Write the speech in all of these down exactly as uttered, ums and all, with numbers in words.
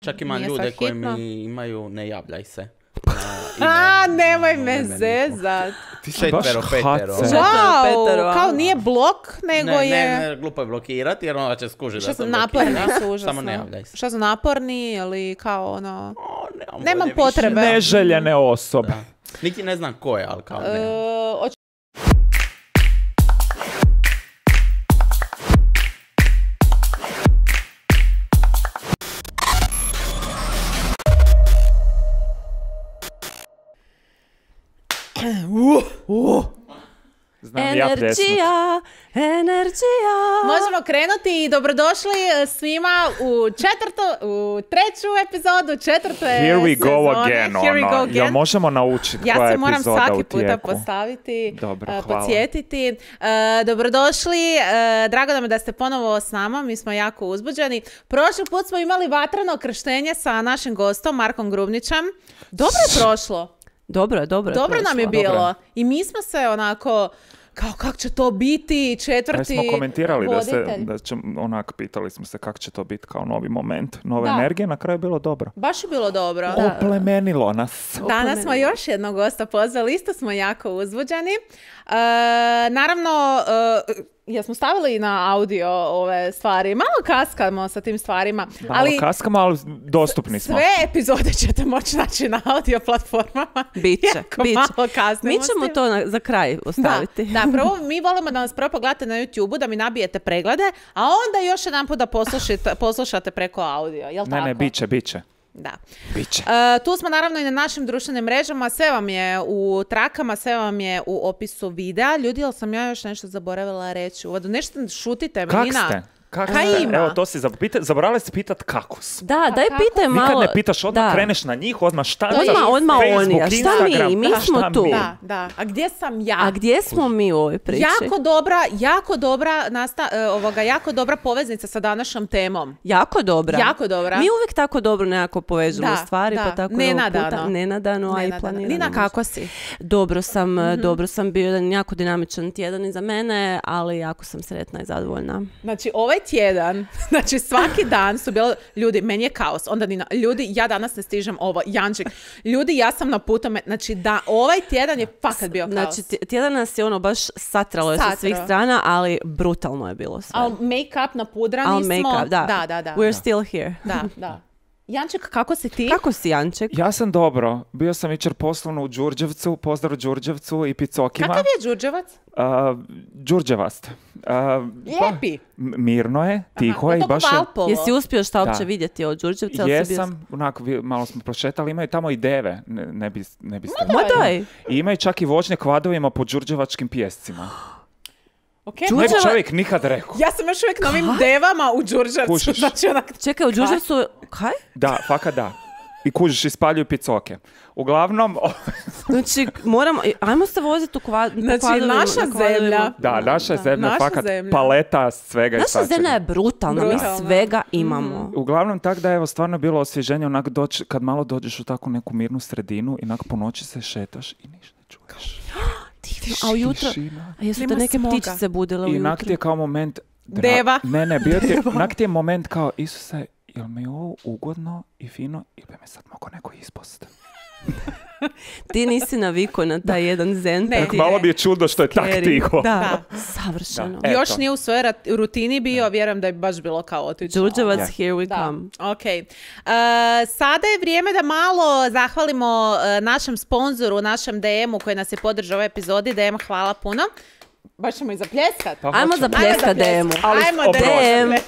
Čak ima nije ljude sad koji hitno. mi imaju ne javljaj se. A, nemoj me zezat. Ti si baš Četvero, petero. hace. Wow, petero, kao a? nije blok, nego Ne, je... ne, ne, glupo je blokirati jer onda će skužiti Šta da su sam naporni blokira. su užasno. Samo ne javljaj se. Šta su naporni ili kao ono... O, nemam Nemam volje više. potrebe. Neželjene osobe. Da. Niti ne znam ko je, ali kao ne. E, hoću- Znam ja pljesnut. Energija, energija. Možemo krenuti i dobrodošli svima u četvrtu, u treću epizodu, četvrte Here we go sezone. again, Here we ono. go again. Jel možemo naučiti Ja koja se je moram epizoda u svaki puta tijeku? postaviti, Dobro, uh, hvala. podsjetiti. Uh, dobrodošli, uh, drago nam je da ste ponovo s nama, mi smo jako uzbuđeni. Prošli put smo imali vatreno krštenje sa našim gostom, Markom Grubnićem. Dobro je prošlo. Dobro je, dobro je Dobro nam je prošlo. bilo. Dobro. I mi smo se onako, kao kako će to biti, četvrti Aj smo komentirali da se, voditelj. da će, onak, pitali smo se kako će to biti kao novi moment, nove Da. energije, na kraju je bilo dobro. Baš je bilo dobro. Oplemenilo nas. Danas smo još jednog gosta pozvali, isto smo jako uzbuđeni. E, naravno, e, jesmo stavili na audio ove stvari. Malo kaskamo sa tim stvarima, Malo ali kaskamo, ali dostupni smo. sve epizode ćete moći naći na audio platformama. Biće, Jako biće. malo kasnimo Mi s ćemo tim. to na, za kraj ostaviti. Da, da, prvo mi volimo da nas prvo pogledate na YouTubeu, da mi nabijete preglede, a onda još jedan put da poslušate, poslušate preko audio. Jel Ne, tako? ne, biće, biće. Da. Biće. E, tu smo naravno i na našim društvenim mrežama, sve vam je u trakama, sve vam je u opisu videa. Ljudi, jel sam ja još nešto zaboravila reći u uvodu? Nešto šutite me, Kak Nina. ste? Kak Kaj ste? ima? Evo, to si zapita- zaboravili si pitat kako su. Da, daj kako? pitaj malo. Nikad ne pitaš, odmah da. kreneš na njih, odmah štancaš. Odmah, odmah Facebook, oni, a šta Instagram, mi? Mi da, smo šta tu. mi? Da, da. A gdje sam ja? A gdje smo mi u ovoj priči? Jako dobra, jako dobra nasta, e, ovoga, jako dobra poveznica sa današnjom temom. Jako dobra. Jako dobra. Mi uvijek tako dobro nekako povežemo Da, stvari, da. pa tako i ovog Nenadano. puta. Nenadano, a i Nenadano. planirano. Nina, kako si? Dobro sam, dobro sam, bio jedan jako dinamičan tjedan iza mene, ali jako sam sretna i zadovoljna. Znači, ovaj tjedan, znači svaki dan su bilo, ljudi, meni je kaos, onda Nina, ljudi, ja danas ne stižem ovo, Janček, ljudi, ja sam na putu, me- znači da, ovaj tjedan je fakat bio kaos. Znači, tj- tjedan nas je ono baš satralo je sa Satrao. svih strana, ali brutalno je bilo sve. Ali make-up napudrani Al smo. make-up, da. Da, da, da. We're still here. Da, da. Janček, kako si ti? Kako si, Janček? Ja sam dobro. Bio sam jučer poslovno u Đurđevcu, pozdrav Đurđevcu i Picokima. Kakav je Đurđevac? Uh, Đurđevast. Uh, pa, Lijepi. m- mirno je, tiho je Je i to baš ko je... Valpovo? Jesi uspio šta uopće Da. vidjeti od Đurđevca? ili si bio- Jesam, onako, vi- malo smo prošetali, imaju tamo i deve, ne, ne, bi, ne biste... Ma daj! I imaju čak i voćne kvadovima po đurđevačkim pijescima. Okay. Ne bi Đurđeva- čovjek nikad rekao. Ja sam još uvijek na ovim devama u Đurđevcu. Kužiš. Znači, onak, Čekaj, u Đurđevcu... Kaj? Da, fakat da. I kužiš, ispaljuju picoke. Uglavnom, o, Znači, moramo... Ajmo se voziti u kvad... po Znači, kvadrovima- naša na kvadrovima. zemlja. da, naša je zemlja, Naša fakat zemlja. paleta svega i Naša svačega. zemlja je brutalna, Brutalna. mi svega imamo. Uglavnom, tak da je evo stvarno bilo osvježenje, onak doći, kad malo dođeš u takvu neku mirnu sredinu, inak po noći se šetaš i ništa ne čuješ. Divno, a ujutro... Tišina. A jesu te Nema neke smoga. ptičice budile I onak ujutro? ti je kao moment... dra- Deva. Ne, ne, bio ti je, onak ti je moment kao, Isuse, jel mi je ovo ugodno i fino ili bi me sad mogao neko ispost? Ti nisi navikao na taj jedan zen. Ne, pa ti- Malo bi je čudo što je tak Scary. tiho. Da, Da. savršeno. Da. još Eto. nije u svojoj rat- rutini bio, vjerujem da je baš bilo kaotično. Đurđevac, Ja. here we Da, come. ok. Uh, sada je vrijeme da malo zahvalimo uh, našem sponzoru, našem D M-u koji nas je podržao u ovoj epizodi. D M, hvala puno. Baš ćemo i zapljeskat. Pa Ajmo hoćemo. zapljeskat D M-u. Ali Ajmo oprosti. D M. D M,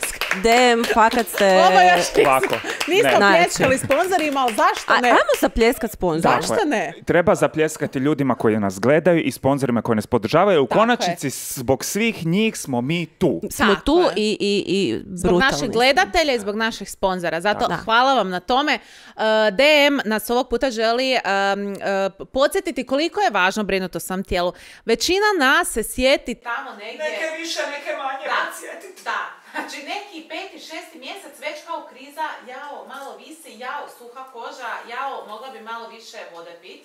D M, fakat ste... Ovo još Ovako. nismo Ne. pljeskali sponzorima, ali zašto A, ne? ajmo zapljeskat sponzor. Zašto Tako je. ne? Treba zapljeskati ljudima koji nas gledaju i sponzorima koji nas podržavaju. U Tako konačnici, zbog svih njih smo mi tu. Smo Tako tu je. i, i, i Zbog brutalni naših smo. gledatelja i zbog naših sponzora. Zato Da. hvala vam na tome. Uh, D M nas ovog puta želi um, uh, podsjetiti koliko je važno brinuti o svom tijelu. Većina nas se sjeti tamo negdje. Neke više, neke manje. Da, da. Znači neki peti, šesti mjesec već kao kriza, jao, malo visi, jao, suha koža, jao, mogla bi malo više vode pit.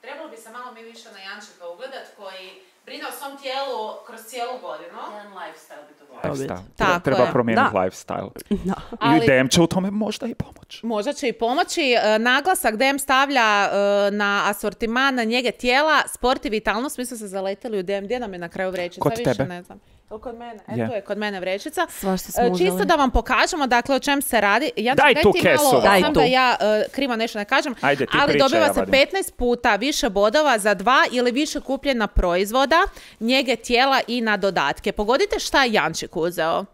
Trebalo bi se malo mi više na Jančeka ugledat koji brine o svom tijelu kroz cijelu godinu. Jedan lifestyle bi to Lifestyle. Tako Treba je. promijeniti Da. lifestyle. Da. Ali- I D M će u tome možda i pomoći. Možda će i pomoći. E, Naglasak D M stavlja e, na asortiman na njege tijela, sport i vitalnost. Mi smo se zaletili u D M. Gdje nam je na kraju vrećica? Kod Više tebe. ne znam. Jel kod mene? E, Je. tu je kod mene vrećica. Svašta smo E, uzeli. Čisto da vam pokažemo, dakle, o čem se radi. Ja Daj tu ti kesu. malo, Daj znam tu. da ja e, krivo nešto ne kažem, Ajde, ti ali pričaj, dobiva ja se vadim. petnaest puta više bodova za dva ili više kupljena proizvoda, njege tijela i na dodatke. Pogodite šta je Jančik uzeo.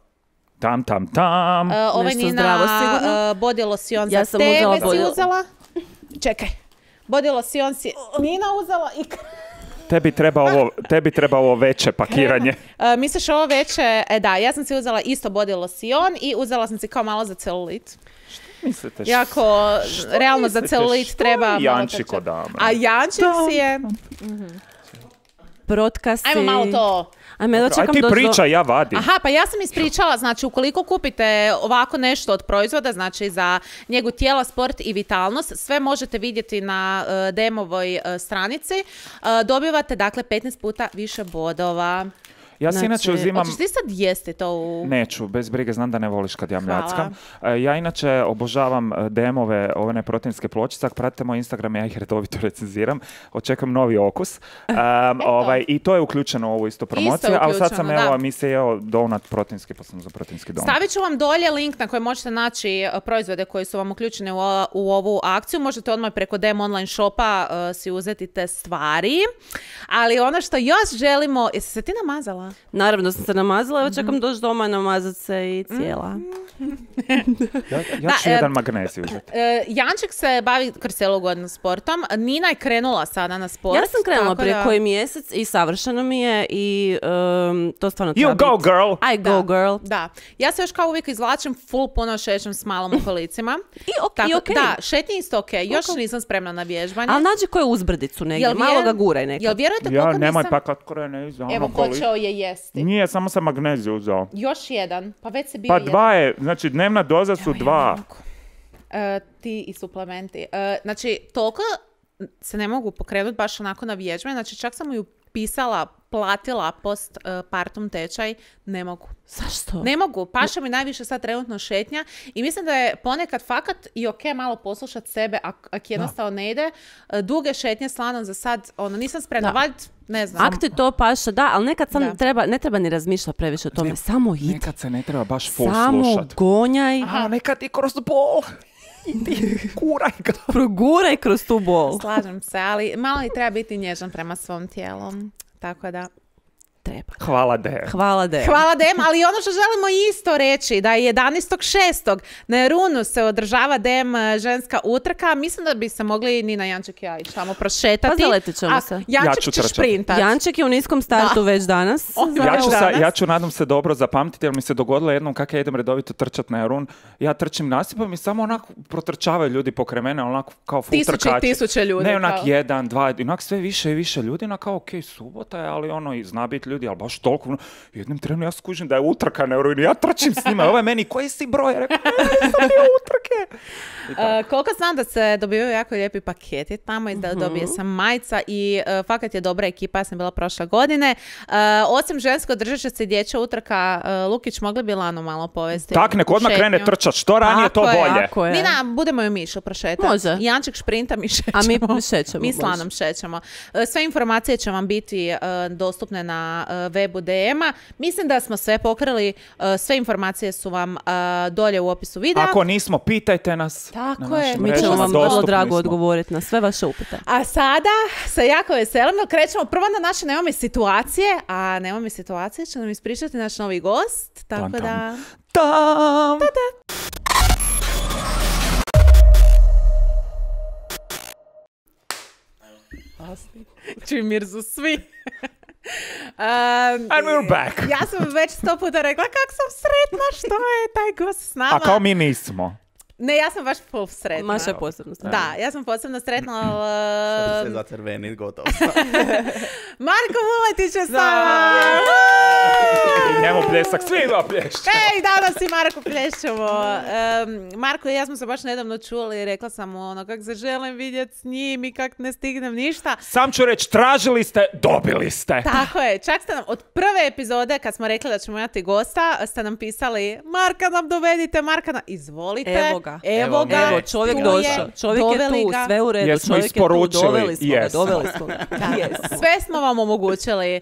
Tam, tam, tam. E, ovaj Nešto Nina zdravo sigurno. e, body lotion Ja za sam tebe uzela si body- uzela. Čekaj. Body lotion si Nina uzela i... Tebi treba ovo, tebi treba ovo veće pakiranje. E, misliš ovo veće? E da, ja sam si uzela isto body lotion i uzela sam si kao malo za celulit. Mislite, š- Jako, realno za mislite, celulit što treba... je malo Jančiko krčat. dama? A Jančik si je... Protkasi. Ajmo malo to... Ajme, da Aj čekam ti doći do- pričaj, ja vadim. Aha, pa ja sam ispričala, znači ukoliko kupite ovako nešto od proizvoda, znači za njegu tijela, sport i vitalnost, sve možete vidjeti na uh, D M-ovoj uh, stranici, uh, dobivate dakle petnaest puta više bodova. Ja si Znači, inače uzimam... Hoćeš ti sad jesti to u... Neću, bez brige, znam da ne voliš kad ja Hvala. mljackam. E, Ja inače obožavam e, D M-ove, ove neproteinske pločice. Ako pratite moj Instagram, ja ih redovito recenziram. Očekam novi okus. Um, ovaj, I to je uključeno u ovu isto promociju. Ali sad sam, uključeno, evo, da. mi se jeo donut proteinski, pa sam za proteinski donut. Stavit ću vam dolje link na koji možete naći uh, proizvode koji su vam uključeni u, o- u ovu akciju. Možete odmah preko D M online shopa uh, si uzeti te stvari. Ali ono što još želimo... Jesi se ti namazala? Naravno sam se namazala, evo čekam doći doma, namazat se i cijela. Ja, ja Da, ću e, jedan magnezij uzeti. E, Janček se bavi kroz cijelu godinu sportom. Nina je krenula sada na sport. Ja sam krenula tako prije da- koji mjesec i savršeno mi je i um, to stvarno treba You go, biti. girl! I go, girl. Da. Ja se još kao uvijek izvlačim, full puno šećem s malom u kolicima. I, ok, Tako, i okej. Da, šetnje isto ok. Još Ok. nisam spremna na vježbanje. Ali nađi koju uzbrdicu negdje, Jel malo vjeru- ga guraj nekad. Jel vjerujete Ja, koliko nemoj nisam... pa kad krene iz ono Evo, koli- počeo je jesti. Nije, samo sam magnezij uzeo. Još jedan. Pa već se bio Pa jedan. dva je, znači dnevna doza su Evo, ja dva. ne mogu. E, ti i suplementi. E, znači, toliko se ne mogu pokrenuti baš onako na vježbe. Znači, čak sam ju pisala, platila post e, partum tečaj. Ne mogu. Zašto? Ne mogu. Paša mi najviše sad trenutno šetnja i mislim da je ponekad fakat i ok malo poslušati sebe ak, ak jednostavno ne ide. E, Duge šetnje s Lanom za sad, ono, nisam spremna. Da. Valjda, ne znam. Ak ti to paša, da, ali nekad sam Da. treba, ne treba ni razmišljati previše o tome, samo idi. Nekad se ne treba baš full Samo slušat. gonjaj, A nekad i kroz bol. Idi, kuraj ga. proguraj kroz tu bol. Slažem se, ali malo i treba biti nježan prema svom tijelu. Tako da... Treba. Hvala de. Hvala de. Hvala Dem, ali ono što želimo isto reći, da je jedanaestog šestog na Runu se održava Dem ženska utrka. Mislim da bi se mogli Nina, Janček i ja ići tamo prošetati. Pa zaletit ćemo A se. Janček Ja ću će trčati. šprintat. Janček je u niskom startu već danas. O, Ja ću, sa, danas. ja ću nadam se dobro zapamtiti, jer mi se dogodilo jednom kak ja idem redovito trčat na Jarun. Ja trčim nasipom i samo onako protrčavaju ljudi pokraj mene, onako kao full Tisuće i trkači. tisuće ljudi, Ne onak kao. jedan, dva, onak sve više i više ljudi, onak kao ok, subota je, ali ono, i zna biti ljudi, ali baš toliko. Ono, jednim trenu ja skužim da je utrka na Jarunu, ja trčim s njima, ovo je meni, koji si broj? Ja rekao, ne znam, je utrke. I tako. E, koliko znam da se dobivaju jako lijepi paketi tamo i da dobije sam majica i e, fakat je dobra ekipa, ja sam bila prošle godine. E, osim žensko držat će se i dječja utrka, e, Lukić, mogli bi Lanu malo povesti? Tak, nek u odmah šetnju? krene trčat, što ranije to Tako je, bolje. Tako je. Nina, budemo ju Mišu prošetati. Može. Janček šprinta, mi šećemo. A mi šećemo, Mi s može. Lanom šećemo. E, Sve informacije će vam biti e, dostupne na e, webu D M-a. Mislim da smo sve pokrili. E, sve informacije su vam e, dolje u opisu videa. Ako nismo, pitajte nas. Tako na našim je. Mi ćemo mrežama, vam vrlo dostupni drago smo. odgovoriti na sve vaše upite. A sada se jako veselimo. Krećemo prvo na naše Nemoj mi situacije, a Nemoj mi situacije će nam ispričati naš novi gost. Tako Tam, tam. da... Tam. Čuj Mirzu svi. Um, And we're back. Ja sam već sto puta rekla kak sam sretna što je taj gost s nama. A kao mi nismo. Ne, ja sam baš full sretna. Maša je posebno stvar. Da, ja sam posebno sretna, Sad ali... se zacrveni, gotovo. Marko Vuletić je s nama! I njemu pljesak, svima plješće. Ej, danas i Marko plješćemo. Um, Marko i ja smo se baš nedavno čuli i rekla sam mu ono, kak se želim vidjeti s njim i kak ne stignem ništa. Sam ću reći, tražili ste, dobili ste. Tako je, čak ste nam od prve epizode kad smo rekli da ćemo imati gosta, ste nam pisali Marka nam dovedite, Marka nam... Izvolite. Evo ga. Evo Evo ga. ga. Evo, čovjek Tu došao. Čovjek je doveli tu, ga. sve u redu. Jesmo Čovjek je tu, isporučili, doveli smo ga, jesmo. doveli smo ga. Jesmo. Sve smo vam omogućili.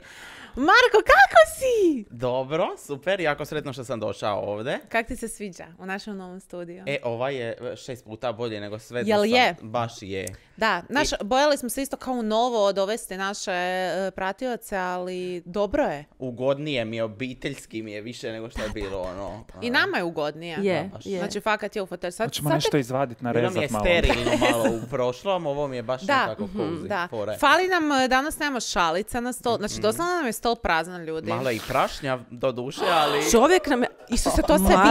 Marko, kako si? Dobro, super, jako sretno što sam došao ovdje. Kak ti se sviđa u našem novom studiju? E, ovaj je šest puta bolje nego sve do Jel sad. je? Baš je. Da, naš, bojali smo se isto kao novo dovesti naše e, pratioce, ali dobro je. Ugodnije mi je, obiteljski mi je više nego što je bilo ono. I nama je ugodnije. Je, baš. je. Znači, fakat je u fotelju. Sad, Hoćemo sad nešto izvaditi, Bilo mi je narezat malo. sterilno malo u prošlom, ovo mi je baš Da, nekako cozy. da. fore. Fali nam, e, danas nemamo šalica na stol. Znači, doslovno nam je stol prazan, ljudi. Malo je i prašnja do duše, ali... Čovjek nam je... Isuse, to se Marko,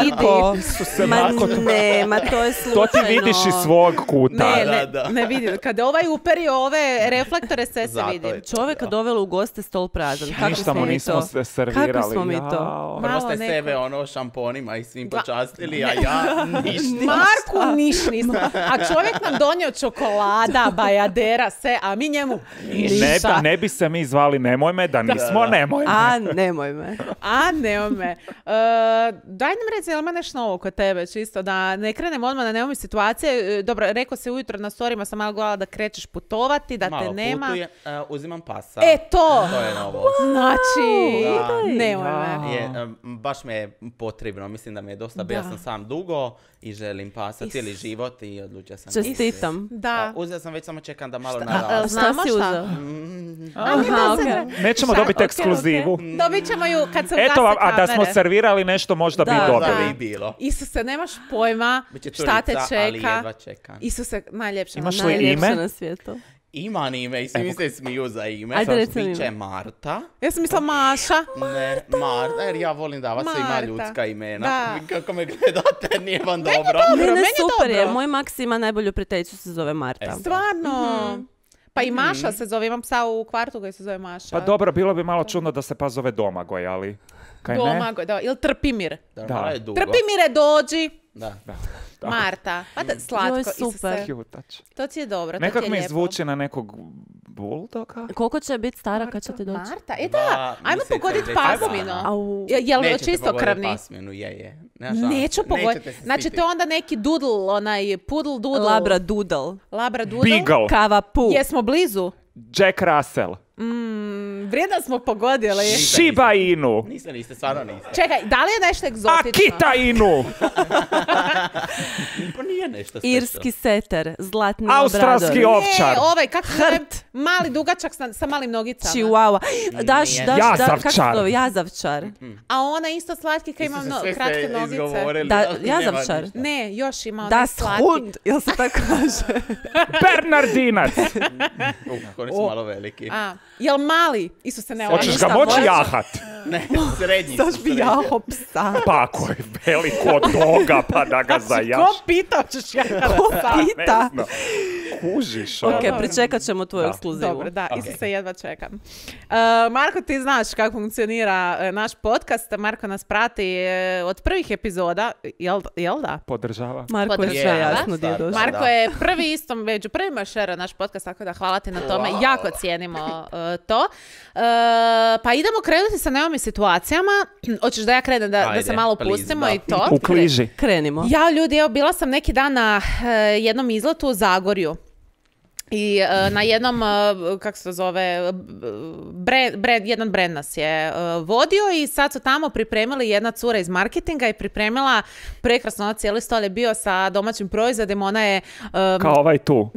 vidi. Isuse, ma Marko, to- ne, ma to je slučajno. To ti vidiš iz svog kuta. Ne, Da, ne, da. ne vidi. Kada ovaj uperi ove reflektore, sve se Zato vidi. je. Čovjeka dovelo u goste, stol prazan. Kako Ništa smo mu mi nismo to? se servirali. Kako smo mi to? Jao. Prvo Malo ste neko- sebe ono šamponima i svim Da. počastili, a ja ništa. Marku niš nismo. A čovjek nam donio čokolada, bajadera, sve, a mi njemu Ne, ništa. ne bi se mi zvali nemoj me, da nismo da. nemoj me. A, nemoj me. A, ne me. E, daj nam reci, jel ima nešto novo kod tebe, čisto, da ne krenemo odmah na neomi situacije. E, Dobro, rekao se ujutro na storima, sam malo gledala da krećeš putovati, da Malo te nema. putujem, e, uzimam pasa. E, to! To je novo. Znači, Da. nemoj Ja. me. Je, em, baš me je potrebno, mislim da mi je dosta, bio Da. sam sam dugo i želim pasa Is- cijeli život i odlučio sam. Čestitam. A, Da. uzeo sam, već samo čekam da malo a, naraste. Znamo Šta si šta? uzeo? Aha, okej. Nećemo Šta? dobiti Ok, ekskluzivu. ok. Dobit ćemo ju kad se ugase Eto vam, a da smo kamere. servirali nešto, možda Da, bi da. dobili. Da bi i bilo. Isuse, nemaš pojma Biće šta te curica, ali čeka. jedva čekam. Isuse, najljepše. Imaš li najljepše. ime? Najljepše na svijetu. Ima ime i svi Evo. mi se smiju za ime. Ajde, Sad reci mi biće ime. Marta. Ja sam mislila Maša. Ne, Marta, jer ja volim davati svima Marta. ljudska imena. Da. Vi kako me gledate, nije vam dobro. dobro, Mene meni je super je. dobro. Moj Maksi ima najbolju prijateljicu, se zove Marta. E, Stvarno. Pa i Maša Mhm. se zove, imam psa u kvartu koji se zove Maša. Pa dobro, bilo bi malo čudno da se pa zove Domagoj, ali... Kaj ne? Domagoj, da, ili Trpimir. Da, Da. malo je dugo. Trpimire, dođi. Da. Da. Marta. Pa da, slatko. Joj, super. Isuse. Cutač. To ti je dobro, to Nekak ti je mi lijepo. zvuči na nekog buldoga. Koliko će biti stara kad će ti doći? Marta, e Dva da, ajmo mjeseca i pogoditi deset pasminu. dana. Au. Je- Jel Nećete čisto pogoditi krvni? pasminu, je, je. Nema šanse. Neću pogoditi. Nećete se Znači, stiti. to je onda neki doodle, onaj poodle doodle. Labra Doodle. Labra doodle. Beagle. Kava Pu. Jesmo blizu. Jack Russell. Mm, vrijedno smo pogodili. Niste, Shiba Inu. Niste, niste, stvarno niste. Čekaj, da li je nešto egzotično? Akita Inu. Pa nije nešto special. Irski seter. Zlatni Australski obrador. ovčar. Ne, ovaj, kako se zove? Mali dugačak sa, sa malim nogicama. Chihuahua. Daš, Nije. daš, da, kako se Jazavčar. zove? Jazavčar. A ona isto slatki kad ima Niste no, se sve kratke ste nogice. izgovorili, Da, ali nema jazavčar. ništa. Ne, još ima onaj Das slatki. Hund. Jel se tako kaže? Bernardinac. Uh, oni su malo veliki. A, jel mali? Isto se ne Hoćeš ništa ga moći moći. jahat? Ne, srednji su. Daš bi srednji. jaho psa. Pa ako je veliko doga, pa da ga zajaš. Ko pita ćeš ja Pita. Ne znam. Kužiš. Ok, ono. pričekat ćemo tvoju Da. ekskluzivu. Dobro, da, Ok. isto se jedva čekam. Uh, Marko, ti znaš kako funkcionira uh, naš podcast. Marko nas prati uh, od prvih epizoda. Jel, jel da? Podržava. Marko je Podržava. sve jasno gdje je Stvarno. došao. Ma- Marko da. je prvi isto među prvima šera naš podcast, tako da hvala ti na tome. Wow. Jako cijenimo uh, to. Uh, pa idemo krenuti sa neomi situacijama. Hoćeš da ja krenem da, da Ajde, se malo please, pustimo da. i to? U kliži. Krenimo. Ja, ljudi, evo, bila sam neki dan na uh, jednom izletu u Zagorju. I uh, na jednom, uh, kako se to zove, brand, brand, jedan brand nas je uh, vodio i sad su tamo pripremili jedna cura iz marketinga i pripremila prekrasno, ono cijeli stol je bio sa domaćim proizvodima, ona je um, Kao ovaj tu.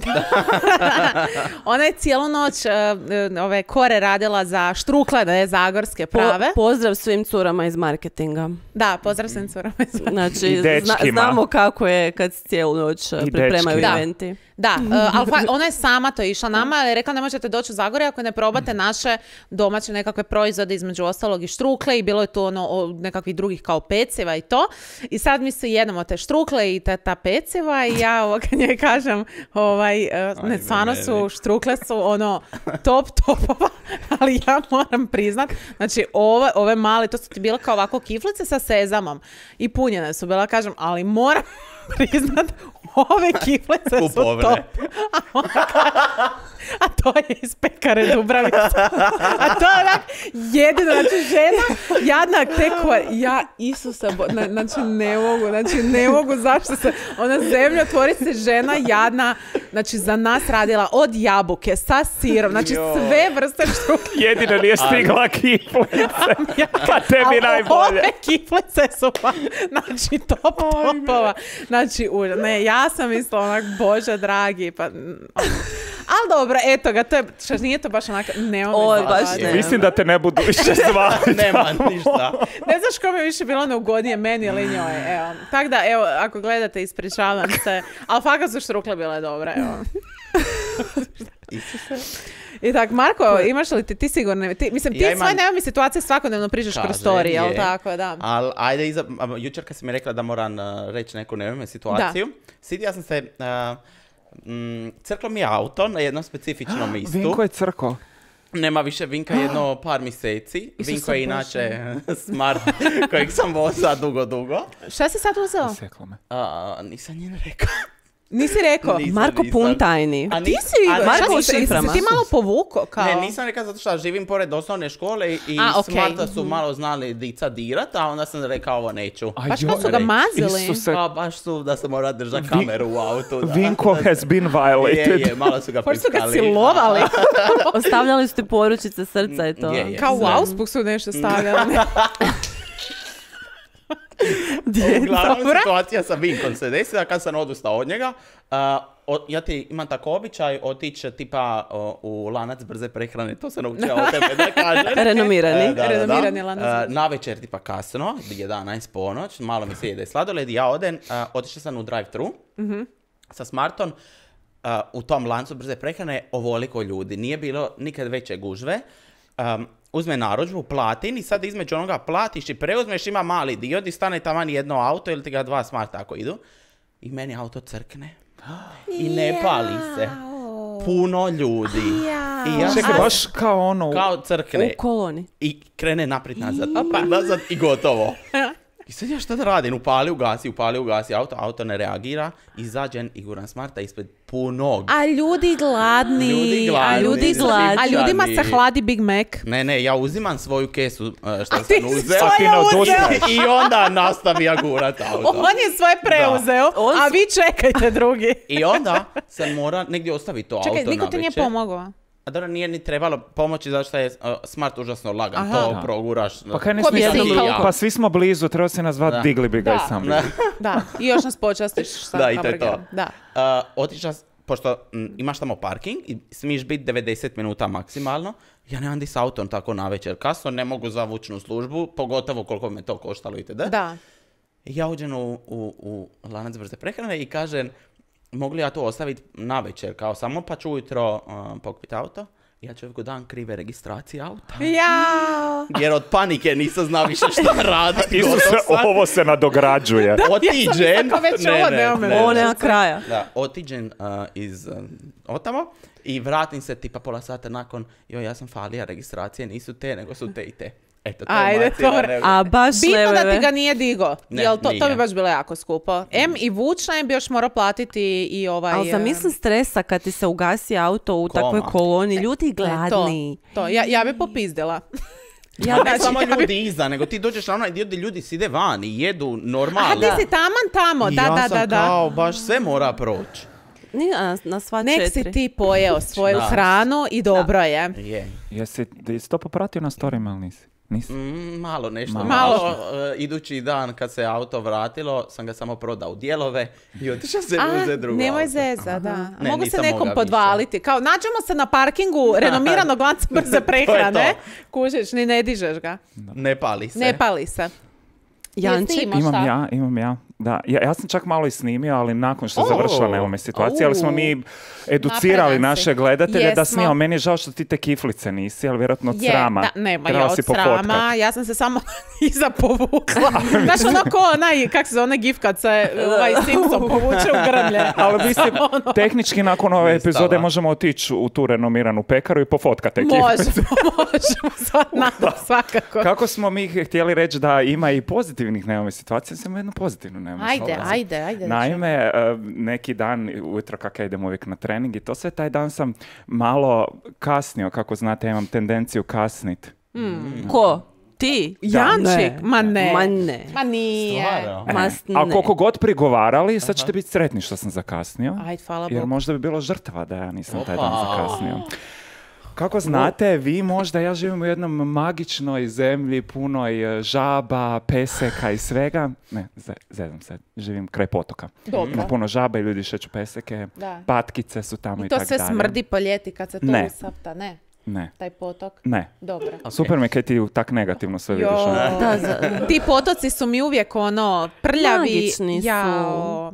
ona je cijelu noć uh, uh, ove kore radila za štrukle, zagorske Po- prave. pozdrav svim curama iz marketinga. Da, pozdrav svim curama iz Znači, I zna- dečkima. znamo kako je kad cijelu noć uh, I pripremaju dečkima. Da. eventi. Da, uh, ali fa- ona je sama to išla nama, ali je rekla ne možete doći u Zagorje ako ne probate naše domaće nekakve proizvode, između ostalog i štrukle i bilo je tu ono o, nekakvih drugih kao peciva i to. I sad mi se jedemo te štrukle i ta, ta peciva i ja ovo kad njoj kažem, ovaj, uh, ne, stvarno su, štrukle su ono top topova, ali ja moram priznat, znači ove, ove male, to su ti bile kao ovako kiflice sa sezamom i punjene su bila, kažem, ali moram priznat, ove kiflice su top. A, ona, a to je iz pekare Dubravice. A to je onak jedino, znači žena, jadna tekova, ja, Isuse, bo, na, znači ne mogu, znači ne mogu, zašto se, ona zemljotvorica žena jadna, znači za nas radila od jabuke sa sirom, znači sve vrste štrukle. Jedino nije stigla kiflice, pa tebi najbolje. Ove kiflice su pa, znači top topova, znači užas. Ne, ja sam mislila onak, Bože dragi, pa... Ali dobro, eto ga, to je, što nije to baš onako, nema Oj, me baš zvati. ne. Mislim da te ne budu više zvati. Nema ništa. Ne znaš ko mi je više bilo neugodnije, meni ili njoj, evo. Tako da, evo, ako gledate, ispričavam se, ali fakat su štrukle bile dobre, evo. I tak, Marko, imaš li ti, ti sigurno, ti, mislim, ti Ja imam- svoje nema mi situacije svakodnevno pričaš kroz Kaže, story, jel je. tako, da. Ali ajde, iza, a, jučer kad si mi rekla da moram uh, reći neku nevjerojatnu situaciju, sjetio sam se, uh, mm, crklo mi je auto na jednom specifičnom mjestu. Vinko je crko. Nema više Vinka jedno par mjeseci. Isuse Vinko je Bože. inače smart kojeg sam vozao dugo, dugo. Šta si sad uzeo? Seklo me. A, nisam njen rekao. Nisi rekao? Nisam, Marko nisam. pun tajni. A Ti nis- si, a Marko, u jesi se šiframa. ti malo povuko, kao? Ne, nisam rekao zato što živim pored osnovne škole i, i A, okej. smarta su malo znali dica dirat, a onda sam rekao ovo neću. A Baš joj, kad su ga reći. mazili. Isuse. Pa baš su da sam morao držati kameru u autu. Da. Vinko has been violated. Je, je, malo su ga Pošto su ga piskali. silovali. Ostavljali su ti poručice srca i to. Je, je. Kao u Znam. Augsburg su nešto stavljali. Uglavnom Dobro. situacija sa Vinkom se desila kad sam odustao od njega. Uh, o, ja ti imam tako običaj otići tipa o, u lanac brze prehrane, to sam naučila od tebe da kažem. Renomirani. E, da, da, da. Renomirani lanac brze. Uh, na večer tipa kasno, jedanaest ponoć, malo mi se jede sladoled i ja odem, uh, otišla sam u drive-thru sa Smartom. Uh, u tom lancu brze prehrane ovoliko ljudi. Nije bilo nikad veće gužve. Um, uzme narudžbu, platin i sad između onoga platiš i preuzmeš, ima mali dio di stane taman jedno auto ili ti ga dva Smarta ako idu. I meni auto crkne. I ne pali se. Puno ljudi. I ja Čekaj, sam- baš kao ono... kao crkne. U koloni. I krene naprijed nazad. Opa, nazad i gotovo. I sad ja šta da radim? Upali, ugasi, upali, ugasi auto. Auto ne reagira. Izađem i guram Smarta ispred punog. A ljudi gladni. Ljudi A gladni, ljudi gladni. A ljudima se hladi Big Mac. Ne, ne, ja uzimam svoju kesu uh, što A ti sam si uzeo. svoje ti ne uzeo. odustaješ. I onda nastavija gurat auto. On je svoje preuzeo, On a s- vi čekajte drugi. I onda sam mora negdje ostaviti to Čekaj, auto niko na ti nije večer. pomogao. A dobro, nije ni trebalo pomoći zato što je uh, Smart užasno lagan. Aha. To Da. proguraš. Pa kaj ne Ko bi smiješ- jednom rukom? Pa svi smo blizu, treba se nas zvati Da. digli bi ga Da. i sam bi. Da. Da, i još nas počastiš sa Da, i to je to. hamburgerom. Da. Uh, otišla, s- pošto m, imaš tamo parking i smiješ biti devedeset minuta maksimalno, ja nemam di s autom tako na večer kasno, ne mogu za vučnu službu, pogotovo koliko me to koštalo itd. Da. I ja uđem u, u, u lanac brze prehrane i kažem, mogu li ja to ostaviti na večer, kao samo pa ću ujutro uh, pokupiti auto. Ja čovjeku dam krive registracije auta. Jao. Jer od panike nisam znao više šta raditi. Isuse, ovo se nadograđuje. Otiđen. kako već ovo nema me Ovo nema kraja. Da, otiđen uh, iz uh, otamo i vratim se tipa pola sata nakon, joj, ja sam falija registracije, nisu te, nego su te i te. Eto, to Ajde, je moja cijela dobro. nego- A baš Bitno da leveve. ti ga nije digo. Ne, Jel to, to bi nije. baš bilo jako skupo. M i vučna bi još morao platiti i ovaj... Ali zamisli stresa kad ti se ugasi auto u Koma. takvoj koloni. Ljudi e, gladni. To, to. Ja, ja bi popizdila. Ja, ne Znači, samo ja bi- ljudi iza, nego ti dođeš na onaj dio gdje ljudi side van i jedu normalno. A ti si taman tamo, I da, ja da, sam da, da. kao, baš sve mora proći. Nije na, na sva Nek četiri. si ti pojeo svoju Da. hranu i dobro je. Je. Jesi, jesi to popratio na storima ili nisi? Nisi? Mm, malo nešto. Malo. Malo, e, idući dan kad se auto vratilo, sam ga samo prodao u dijelove i otišao se A, uzeti drugo nemoj auto. zeza, da. Ne, Mogu se nisam nekom mogao podvaliti. Kao, nađemo se na parkingu renomiranog lanca brze prehrane. Kužiš, ni ne dižeš ga. Ne pali se. Ne pali se. Janči, Jesi imao Imam šta? ja, imam ja. Da, ja, ja sam čak malo i snimio, ali nakon što Oh. završila nemome situacije, ali smo mi educirali Napredan si. naše gledatelje da Jesmo. snimamo. Meni je žao što ti te kiflice nisi, ali vjerojatno od Je, srama. da, nema Trebala ja si od pofotkat. srama, ja sam se samo iza povukla. Znaš ono ko onaj, kak se zove, onaj gif kad se ovaj Simpson povuče u grmlje. Ali mislim, Ono. tehnički nakon ove Nestala. epizode možemo otići u tu renomiranu pekaru i pofotkati te kiflice. Možemo, možemo, sva- nadam, svakako. Kako smo mi htjeli reći da ima i pozitivnih nemome situacija, sam jednu pozitivnu nemome Ajde, situaciju. ajde, ajde. Naime, e, neki dan, ujutro kako ja idem uvijek na trening i to sve, taj dan sam malo kasnio, kako znate, ja imam tendenciju kasnit. Ko? Ti? Jančik? Ma ne. Ma ne. Ma nije. Stvarno? Ma E, s- a ne. koliko god prigovarali, sad ćete biti sretni što sam zakasnio. Ajde, hvala Jer Bogu. možda bi bilo žrtva da ja nisam taj dan Opa. zakasnio. Kako znate, vi možda, ja živim u jednom magičnoj zemlji, punoj e, žaba, peseka i svega. Ne, ze- zezam se, živim kraj potoka. Dobro. Ima puno žaba i ljudi šeću peseke, Da. patkice su tamo i, I to tak sve dalje. smrdi po ljeti kad se to Ne. usapta, ne? Ne, Taj potok? ne. Dobro. Super mi kaj ti tak negativno sve vidiš. Jo. ono. Da, za- Ti potoci su mi uvijek ono prljavi. Magični su. Jao.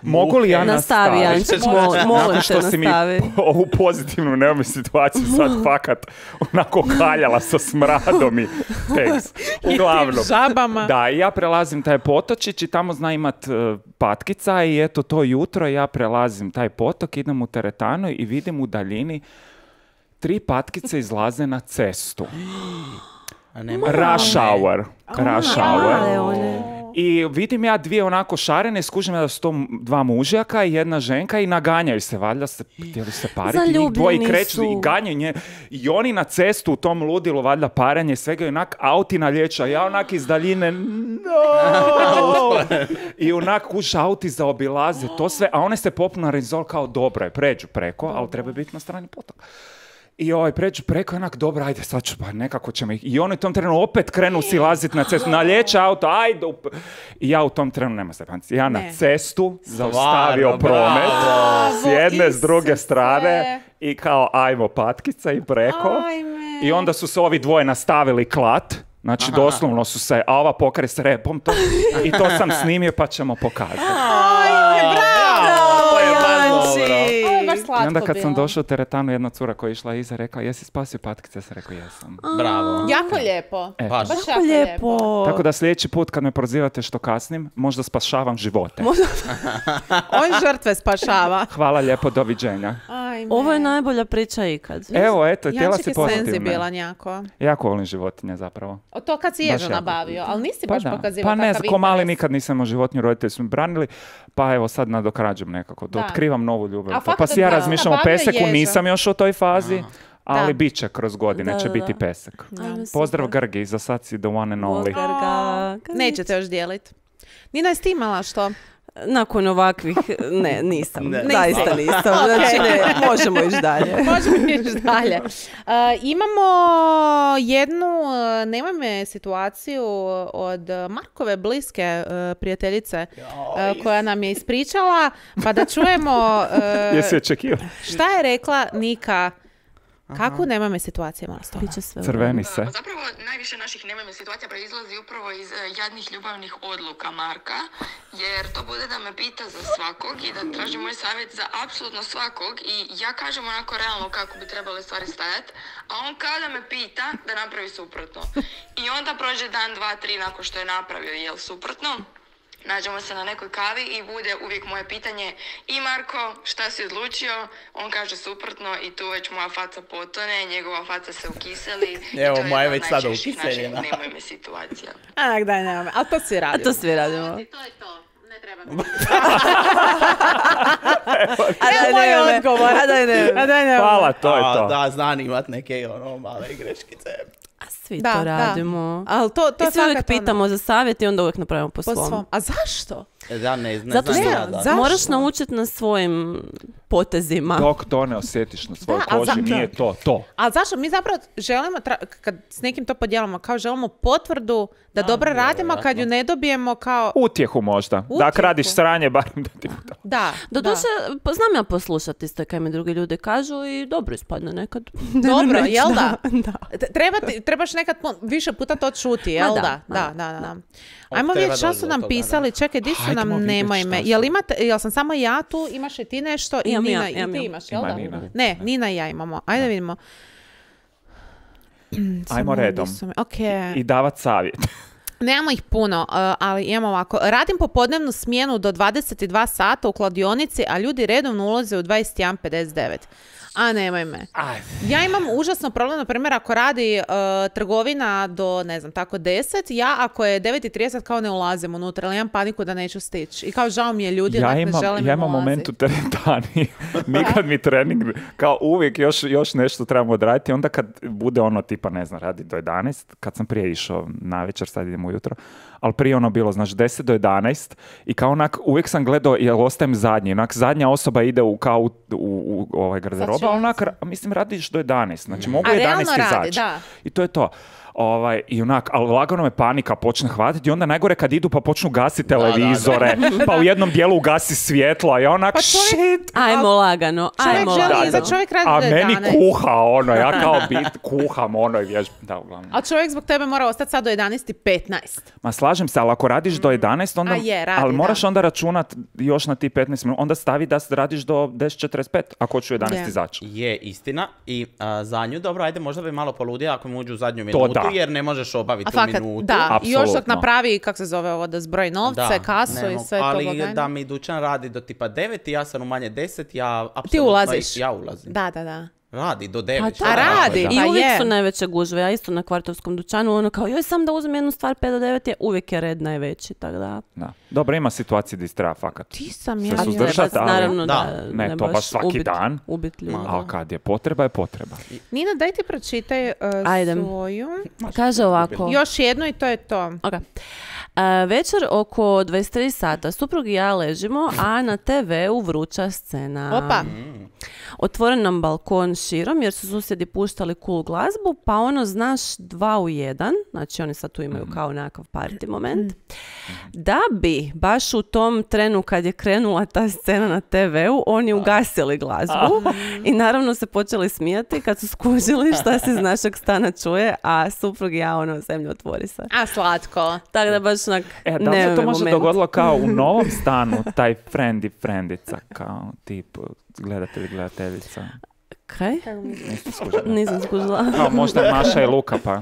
Mogu li ja Nastavi, nastaviti? Jančić, mol- molim Nakon te, što si mi nastavi. ovu pozitivnu nemoj situaciju sad fakat onako kaljala sa smradom i teks. Uglavnom. Žabama. Da, i ja prelazim taj potočić i tamo zna imat e, patkica i eto to jutro ja prelazim taj potok, idem u teretanu i vidim u daljini tri patkice izlaze na cestu. A nema Rush hour. Rush Male hour. one. I vidim ja dvije onako šarene, skužim ja da su to dva mužjaka i jedna ženka i naganjaju se, valjda se htjeli se pariti, njih dvoje i Zaljubljeni kreću su. i ganjaju nje. I oni na cestu u tom ludilu, valjda paranje, svega i onak auti na liječa, ja onak iz daljine, no! I onak kuš auti zaobilaze to sve, a one se popnu na rezol kao dobro je, pređu preko, ali treba biti na strani potoka. I ovaj pređu preko, onak, dobro, ajde, sad ću, pa nekako ćemo ih... I oni u tom trenu opet krenu silaziti na cestu, nalječe auto, ajde... up- I ja u tom trenu, nema se panci, ja na Ne. cestu zaustavio Stvarno, promet, bravo. s jedne, s druge Isuse. strane, i kao, ajmo patkica i preko. Ajme. I onda su se ovi dvoje nastavili klat, znači doslovno su se, a ova pokare s repom to, i to sam snimio pa ćemo pokazati. Ajme, bravo, to je baš dobro. Janči. Ovo je baš I slatko onda kad sam bilo. došao u teretanu, jedna cura koja je išla iza rekla, jesi spasio patkice? Ja sam rekao, jesam. Bravo. Jako lijepo. E. Baš. Baš Jako jako lijepo. lijepo. Tako da sljedeći put kad me prozivate što kasnim, možda spašavam živote. On žrtve spašava. Hvala lijepo, doviđenja. Ajme. Ovo je najbolja priča ikad. Evo, eto, htjela Jančik si je pozitivne. senzibilan jako. Jako volim životinje zapravo. O to kad si Baš ježu jako. nabavio, ali nisi baš da. pokazivao Pa ne, takav ko mali interes. nikad nisam imao životinju, roditelji su mi branili, pa evo sad nadokrađujem nekako, da Da. otkrivam novu ljubav. A Pa fakat si ja da, razmišljam o nabavio peseku, ježa. nisam još u toj fazi, ali Da. bit će kroz godine, Da, će da, biti da. pesek. Ajme, Pozdrav super. Grgi, za sad si the one and only. Pozdrav ga. Nećete još dijelit. Nina, jesi ti imala što? Nakon ovakvih, ne, nisam. Ne. Zaista nisam. Znači, ne, možemo ići dalje. Možemo ići dalje. Uh, imamo jednu, uh, nemoj me, situaciju od Markove bliske uh, prijateljice uh, koja nam je ispričala, pa da čujemo uh, Jesi očekivao? šta je rekla Nika. Kakvu nemoj me situacije, molim vas. Biće sve u Crveni se. Zapravo, najviše naših nemojme situacija proizlazi upravo iz e, jadnih ljubavnih odluka Marka, jer to bude da me pita za svakog i da traži moj savjet za apsolutno svakog i ja kažem onako realno kako bi trebale stvari stajati, a on kada me pita da napravi suprotno. I onda prođe dan, dva, tri nakon što je napravio jel suprotno. Nađemo se na nekoj kavi i bude uvijek moje pitanje i Marko, šta si odlučio? On kaže suprotno i tu već moja faca potone, njegova faca se ukiseli. Evo, i to je moja jedna već od sada najčešćih naših ukiseljena. nemoj me situacija. Anak, daj, nemoj me. Ali to svi A radimo. to svi radimo. To je to. Ne treba mi. A daj, moj ne, ne. odgovor. A daj, ne. A daj, nemoj. Hvala, to je A, to. Da, znam imat neke ono male greškice. A svi Da, to da. radimo. Ali to, to I je svi uvijek fakat ono, pitamo za savjet i onda uvijek napravimo po, po svom. svom. A zašto? Da, ne, ne Zato znam što ja, da. Zašto? moraš naučiti na svojim potezima. Dok to ne osjetiš na svojoj Da, a koži, za- nije to to. Ali zašto? Mi zapravo želimo, tra- kad s nekim to podijelimo, kao želimo potvrdu da dobro radimo, kad ju ne dobijemo kao... Utjehu možda. Da, Utjehu. ako radiš sranje, barem da ti bude. Da, Doduše, pa znam ja poslušati isto kaj mi drugi ljudi kažu i dobro ispadne nekad. Dobro, Neću, jel da? da. T- Treba ti- trebaš nekad pun- više puta to čuti, jel Ma da? da, Da, da, da. da. Ajmo treba vidjeti što doći su do nam toga, pisali. Čekaj, di su Hajdemo nam, vidjeti nemoj šta me. su. Jel, imate, jel sam samo ja tu, imaš i ti nešto i Imam ja, Nina, imam i ti ja. imaš, jel Ima da? Nina. Ne, Nina i ja imamo. Ajde vidimo. Ajmo Samo redom. di su mi- Ok. I davat savjet. Nemamo ih puno, uh, ali imamo ovako. Radim popodnevnu smjenu do dvadeset dva sata u kladionici, a ljudi redovno ulaze u dvadeset jedan pedeset devet. A nemoj me. Ajde. Ja imam užasno problem, na primjer, ako radi uh, trgovina do, ne znam, tako deset, ja ako je devet i trideset kao ne ulazim unutra, ali imam paniku da neću stići. I kao žao mi je ljudi, Ja onak ne imam, želim ja im imam ulazit. moment u teretani. Mi kad mi trening, kao uvijek još, još nešto trebamo odraditi, onda kad bude ono tipa, ne znam, radi do jedanaest, kad sam prije išao na večer, sad idem ujutro, ali prije ono bilo, znači deset do jedanaest i kao onak, uvijek sam gledao, jel ostajem zadnji, onak zadnja osoba ide u kao u, u, u ovaj garderoba, ali onak, ra- mislim, radiš do jedanaest, znači mogu A jedanaest realno radi, izaći. da. I to je to. Ovaj, i onak, ali lagano me panika počne hvatiti i onda najgore kad idu pa počnu gasiti televizore, pa u jednom dijelu ugasi svjetlo, a ja onak, Pa čovjek- shit, Ajmo lagano, Čovjek ajmo želi, lagano. za čovjek radi a do meni jedanaest. kuha ono, ja kao bit kuham ono i vježbam, da uglavnom. A čovjek zbog tebe mora ostati sad do jedanaest i petnaest. Ma slažem se, ali ako radiš do jedanaest, onda, A je, radi, ali moraš da. onda računat još na ti petnaest minuta, onda stavi da radiš do deset četrdeset pet, ako hoću u jedanaest Je. izaći. Je istina i a, za nju, dobro, ajde, možda bi malo poludio ako mu uđu u zadnju To minutu, da. jer ne možeš obaviti A u fakat, minutu. da, i još dok Apsolutno. napravi, kako se zove ovo, da zbroji novce, Da, kasu ne i mogu. sve to ali blagajnu. da mi dućan radi do tipa devet i ja sam u manje deset, ja apsolutno... Ti ulaziš? Ja ulazim. Da, da, da. Radi do A devet. to A radi, I pa uvijek je. su najveće gužve. Ja isto na kvartovskom dućanu, ono kao, joj sam da uzmem jednu stvar pet do devet, je uvijek je red najveći, tako da... Da. Dobro, ima situacije gdje treba fakat. Ti sam Se ja. su Ne suzdržat, baš, ali- naravno da, Da. Ne, ne to baš svaki ubit, dan. Ubit ljudi. Ali kad je potreba, je potreba. Nina, daj ti pročitaj uh, Ajde. svoju. Kaže ovako. Još jednu i to je to. Ok. A, večer oko dvadeset tri sata suprug i ja ležimo, a na te veu vruća scena. Opa. Otvoren nam balkon širom jer su susjedi puštali cool glazbu, pa ono znaš dva u jedan, znači oni sad tu imaju kao nekakav party moment, da bi baš u tom trenu kad je krenula ta scena na te veu, oni ugasili glazbu i naravno se počeli smijati kad su skužili šta se iz našeg stana čuje, a suprug i ja ono zemlju otvori se. A, slatko. Tako da baš onak E, da li se to nevoj može moment. dogodilo kao u novom stanu, taj friend i friendica, kao tip gledatelj i gledateljica? Kaj? Niste skužili? Nisam skužila. Kao možda Maša i Luka, pa.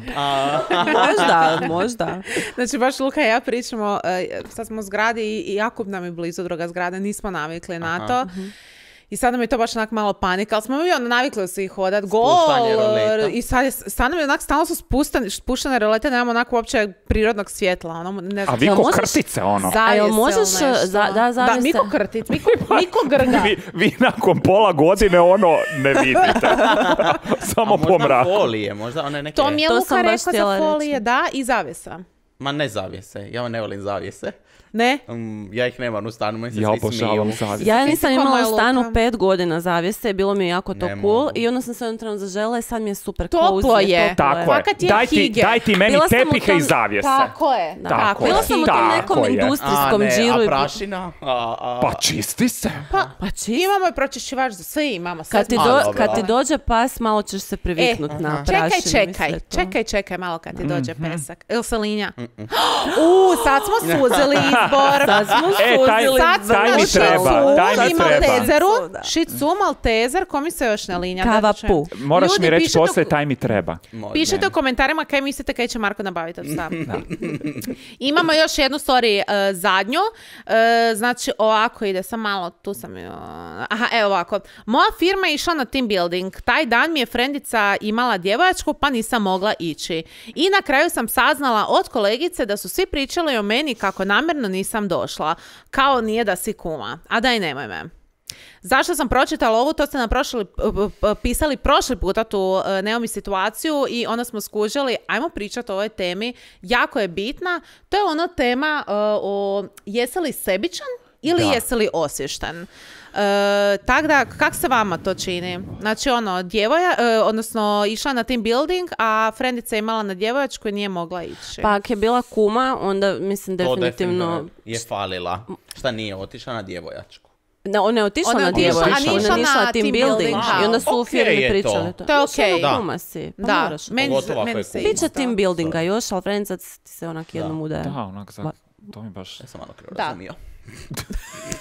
možda, možda. Znači, baš Luka i ja pričamo, uh, sad smo u zgradi i, i Jakub nam je blizu druga zgrada, nismo navikli na to. I sad nam je to baš onak malo panika, ali smo mi ono navikli svi hodat, Spuštanje gol, roleta. i sad, je, sad nam je onak, stalno su spustane, spuštane rolete, nemamo onako uopće prirodnog svjetla, ono, ne A znam. vi Jel ko možeš- krtice, ono. Zavjese A jel ili možeš, nešto. za- da, Da, zavjese? Miko krtit, Miko, Miko grga. Vi, vi nakon pola godine ono ne vidite. Samo A po možda mraku. folije, možda one neke... To mi je To Luka sam baš rekao htjela za folije, reći. da, i zavjesa. Ma ne zavjese, ja ne volim zavjese. Ne? Um, ja ih nemam u stanu, meni se Ja svi obožavam smiju. zavjese. Ja nisam Ti si ko imala moja u stanu Luka. pet godina zavjese, bilo mi je jako to Ne cool mogu. i onda sam se jednom trenutku zažela i sad mi je super Toplo cozy, je. toplo Tako je. Fakat je Daj ti, hige. daj ti meni Bila sam u tepihe tom- i zavjese. Tako je. Da. Tako Bila je. sam u tom Tako nekom je. industrijskom A ne, džiru. a i- prašina? A, a, Pa čisti se. Pa čist. Imamo je pročišćivač za sve, imamo. Sve Kad ti, smo- do- A, dobro. kad ti dođe pas, malo ćeš se priviknut E, na Čekaj, prašinu i čekaj, sve to. čekaj, čekaj malo kad ti dođe Mhm. pesak. Ili salinja? U, sad smo suzili izbor. Sad smo E, taj- suzili Sad smo taj mi ušli treba, u taj mi i treba. Maltezeru. Da. Shih Tzu, Maltezer, ko mi se još ne linja? Kava Da ću- pu. Moraš Ljudi, mi reći pišite u- poslije, taj mi treba. može. Pišite u komentarima kaj mislite kaj će Marko nabaviti od stav. Imamo još jednu story, uh, zadnju. Uh, znači, ovako ide, sam malo, tu sam... Uh, aha, evo ovako. Moja firma je išla na team building. Taj dan mi je frendica imala djevojačku, pa nisam mogla ići. I na kraju sam saznala od kolegice da su svi pričali o meni kako namjerno nisam došla. Kao nije da si kuma. A daj, nemoj me. Zašto sam pročitala ovu, to ste nam prošli, p- p- pisali prošli puta tu e, Neomi situaciju i onda smo skužili, ajmo pričati o ovoj temi, jako je bitna. To je ona tema e, o jesi li sebičan ili Da. jesi li osvješten. E, tako da, kak se vama to čini? Znači ono, djevoja, e, odnosno išla na team building, a frendica je imala na djevojačku i nije mogla ići. Pa ako je bila kuma, onda mislim To definitivno... definitivno je falila. Šta nije otišla na djevojačku? Da, ona je otišla Ona je na otišla, djevojku, a nije ona išla je išla na na team team building building. i onda su u Ok firmi je to. pričali to. To je Još okej. ono Da. kuma si, pa Da, moraš. meni, Pogotovo ako meni je se kuma. isto. Biće team buildinga još, ali Frenzac ti se onak jednom udaje. Da, onak, za, to mi baš... Ja sam malo krivo Da. razumio.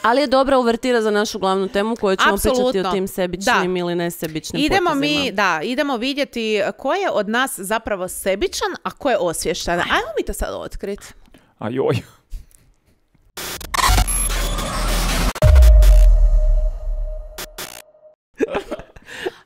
Ali je dobra uvertira za našu glavnu temu koju ćemo Apsolutno. pričati o tim sebičnim Da. ili nesebičnim Idemo potezima. mi, da, idemo vidjeti ko je od nas zapravo sebičan, a ko je osvješten. Ajmo mi to sad otkriti. A joj.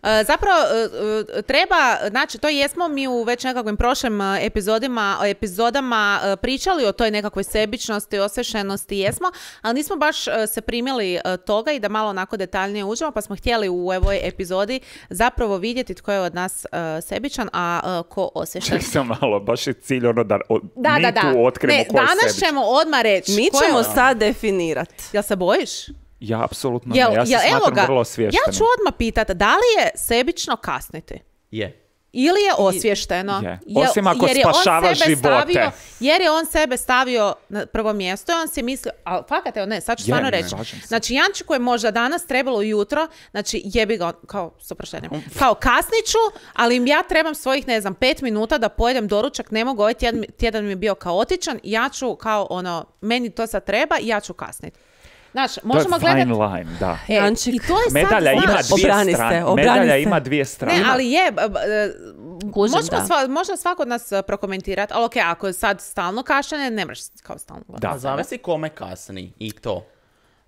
E, Zapravo, e, e, treba, znači, to jesmo mi u već nekakvim prošlim e, epizodima, epizodama e, pričali o toj nekakvoj sebičnosti, osvješenosti, jesmo, ali nismo baš e, se primili e, toga i da malo onako detaljnije uđemo, pa smo htjeli u ovoj epizodi zapravo vidjeti tko je od nas e, sebičan, a e, ko osvješten. Ček sam malo, baš je cilj ono da o, Da, mi da, da. tu otkrijemo Ne, ko je danas sebičan. ćemo odmah reći. Mi ko je- ćemo sad definirati. Jel se bojiš? Ja apsolutno Jel, ne, ja se jel, evo smatram ga, vrlo svještenim. ja ću odmah pitati, da li je sebično kasniti? Je. Ili je osvješteno? Je. Jel- Osim ako jer je on spašava sebe živote. Stavio, jer je on sebe stavio na prvo mjesto i on si mislio, ali fakat evo ne, sad ću Je, stvarno ne, reći. slažem se. Znači Jančiku je možda danas trebalo ujutro, znači jebi ga, kao s oproštenjem, kao kasniću, ali im ja trebam svojih, ne znam, pet minuta da pojedem doručak, ne mogu, ovaj tjedan, tjedan mi je bio kaotičan, ja ću kao ono, meni to sad treba i ja ću kasniti. Znači, možemo to je fine gledati... line, da. E, Jančik. I to je sad, Medalja ima znaš, dvije Obrani se, strane. obrani Medalja se. ima dvije strane. Ne, ali je, b- b- e, Kužim, možemo da. sva, može svako od nas e, prokomentirati, ali ok, ako je sad stalno kašljanje, ne možeš kao stalno gledati. Da. A zavisi kome kasni i to.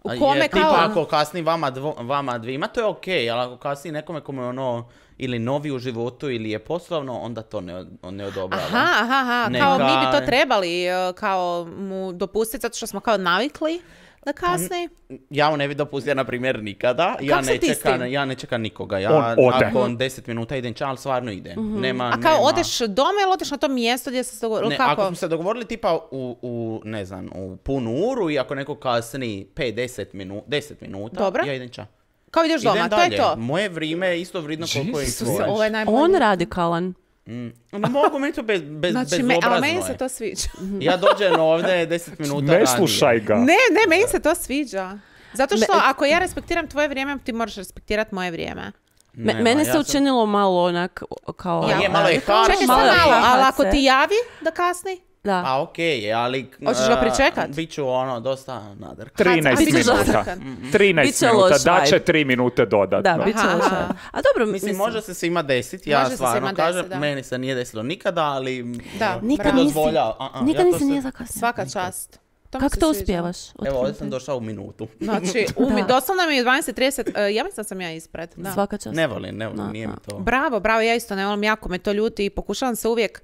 U A kome jer kao- tipa ako kasni vama, dvo, vama dvima, to je okej, ali ako kasni nekome kome je ono ili novi u životu ili je poslovno, onda to ne, od- ne odobrava. Aha, aha, aha, Neka- kao mi bi to trebali e, kao mu dopustiti zato što smo kao navikli da kasni. Ja mu ne bi dopustio, na primjer, nikada. Ja Kako si ne, ti s čekam, tim? ja ne čekam nikoga. Ja On ode. nakon deset minuta idem ča, ali stvarno idem. Nema, A kao nema- odeš doma ili odeš na to mjesto gdje se dogovorili? Ne, Kako? ako smo se dogovorili tipa u, u, ne znam, u punu uru i ako neko kasni pet do deset minu, deset minuta, Dobro. ja idem ča. Kao ideš doma, Idem to dalje. je to. Moje vrijeme je isto vridno koliko je i Jesus. tvoje. Ovo je najbolje. On radikalan. Mm. Ne mogu, meni to bez, bez, Znači, me, bezobrazno ali meni je. se to sviđa. Ja dođem ovdje deset minuta Ne slušaj ga. Ne, ne, meni se to sviđa. Zato što ako ja respektiram tvoje vrijeme, ti moraš respektirati moje vrijeme. Me, Nema, mene ja se sam- učinilo malo onak kao... Ja, je, malo je harš. Čekaj, Malo samo je malo, ali hahace. ako ti javi da kasni, Da. A okej, je, ali... Hoćeš ga a, pričekat? Bit ću ono, dosta nadrka. trinaest A, bit ćeš minuta. zatrkan. trinaest Biće minuta, loš daće vibe. tri minute dodatno. Da, bit će Aha, loše. aha. A dobro, Mislim, mislim, može se svima desiti, ja Može se stvarno svima kažem, desit, da. meni se nije desilo nikada, ali... Da, nikad bravo. nisi, Dozvolja- a, a, nikad ja to nisi se- nije zakasnio. Svaka čast. mi Kako se to sviđa. uspijevaš? Evo, ovdje sam došao u minutu. Znači, u mi, Da. doslovno mi je dvanaest trideset, uh, ja mislim da sam ja ispred. Da. Svaka čast. Ne volim, ne volim, Da, nije mi da. to. Bravo, bravo, ja isto ne volim, jako me to ljuti i pokušavam se uvijek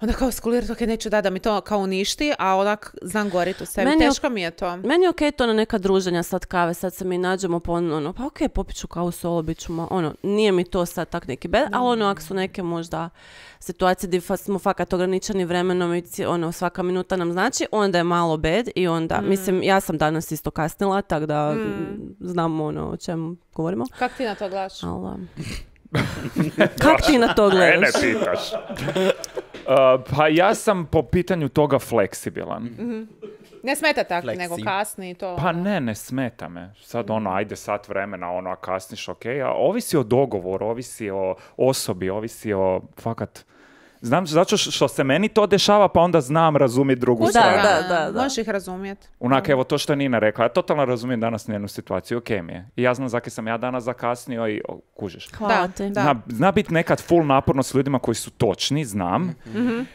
onda kao skulirati, ok, neću da da mi to kao uništi, a onak znam goriti u sebi. Meni je- Teško mi je to. Meni je okej to na neka druženja sad kave, sad se mi nađemo po ono, pa okej, popit ću kavu solo, bit ću ma, ono, nije mi to sad tak neki bed, ali ono, ako su neke možda situacije gdje fa- smo fakat ograničeni vremenom i ci- ono, svaka minuta nam znači, onda je malo bed i onda, mislim, ja sam danas isto kasnila, tako da znam ono o čemu govorimo, Kako ti na to gledaš? ali... um, Kak ti na to Mene gledaš? pitaš. Uh, pa ja sam po pitanju toga fleksibilan. Ne smeta tako, Flexi. nego kasni i to. Pa ne, ne smeta me. Sad ono, ajde sat vremena, ono, a kasniš, ok, a ovisi o dogovoru, ovisi o osobi, ovisi o, fakat, znam, zato što- što se meni to dešava, pa onda znam razumjeti drugu Da, stranu. da, da, da. Možeš ih razumjeti. Onak, evo to što je Nina rekla, ja totalno razumijem danas njenu situaciju, ok mi je. I ja znam zakaj sam ja danas zakasnio i o, kužiš. Hvala Da, ti. da. Zna, zna biti nekad full naporno s ljudima koji su točni, znam,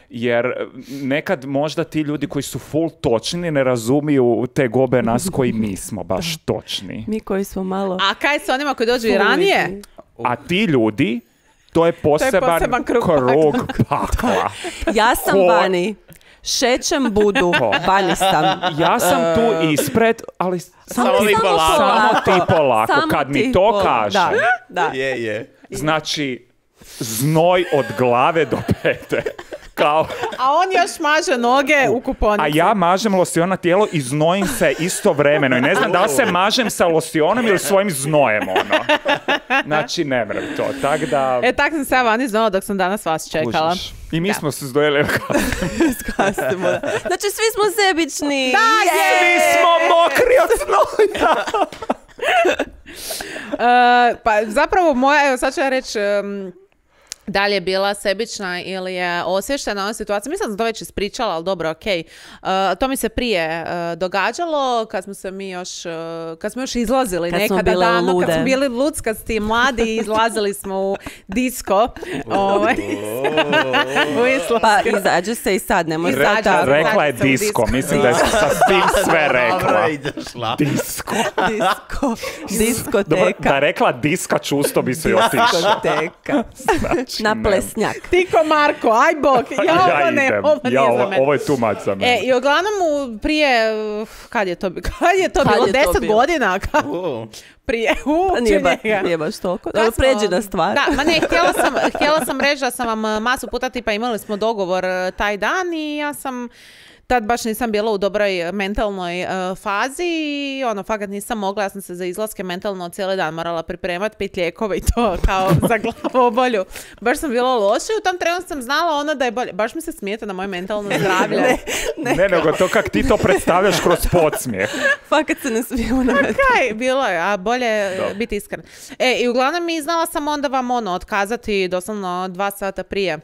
jer e, nekad možda ti ljudi koji su full točni ne razumiju te gobe nas koji nismo baš točni. Mi koji smo malo... A kaj s onima koji dođu i ranije? A ti ljudi, to je poseban, poseban krug krug pakla. Ja sam Ko- vani. Šećem budu. Ko? Vani sam. Ja sam tu ispred, ali samo, Samo ti, vi polako. samo ti polako. Samo Kad mi ti to polako. kaže, Da, da. Je, je. znači znoj od glave do pete. Kao, A on još maže noge u kuponici. a ja mažem losion na tijelo i znojim se istovremeno. I ne znam da li se mažem sa losionom ili svojim znojem, ono. Znači, ne mrem to. Tak da... E, tak sam se ja vani znala dok sam danas vas čekala. kužiš. I mi Da. smo se zdojeli. Skasimo, da. Znači, svi smo sebični. Svi smo mokri od znoja. Uh, pa zapravo moja, evo sad ću ja reći, um, da li je bila sebična ili je osvještena na situaciju. Mislim da sam to već ispričala, ali dobro, ok. Uh, to mi se prije uh, događalo kad smo se mi još, uh, kad smo još izlazili Kad smo nekada bile davno, lude. kad smo bili luckasti, mladi, izlazili smo u disko. Ovaj. U Islamsku. Pa izađe se i sad, nemoj Izađe sad se. tako. Rekla je Vraća se u disko, disko. mislim da je sa tim sve rekla. Dobro, ideš la. Disko. Disko, Dobro, diskoteka. da je rekla diska čusto bi se i otišao. Diskoteka. Znači, Na ne. plesnjak. Tiko Marko, aj bok, ja ovo ne, idem. ovo nije Ja, za ovo, mene. ovo je too much za mene. E, i uglavnom u- prije, uh, kad je to, bi- kad je to Kad bilo, je to deset bilo? godina, kad, U, prije, u, Pa Nije, ba, njega. nije baš toliko. Kad Dobro, smo- pređi na stvar. Da, ma ne, htjela sam, htjela sam reći da sam vam uh, masu puta tipa imali smo dogovor uh, taj dan i ja sam tad baš nisam bila u dobroj mentalnoj uh, fazi i ono, fakat nisam mogla, ja sam se za izlaske mentalno cijeli dan morala pripremati, pit lijekove i to kao za glavobolju. Baš sam bila loša i u tom trenu sam znala ono da je bolje. Baš mi se smijete na moje mentalno zdravlje. Ne, nego to kak ti to predstavljaš kroz podsmijeh. Fakat se ne smije unavjeti. Kaj, bilo je, a bolje Dobro. biti iskren. E, i uglavnom mi znala sam onda vam ono, otkazati doslovno dva sata prije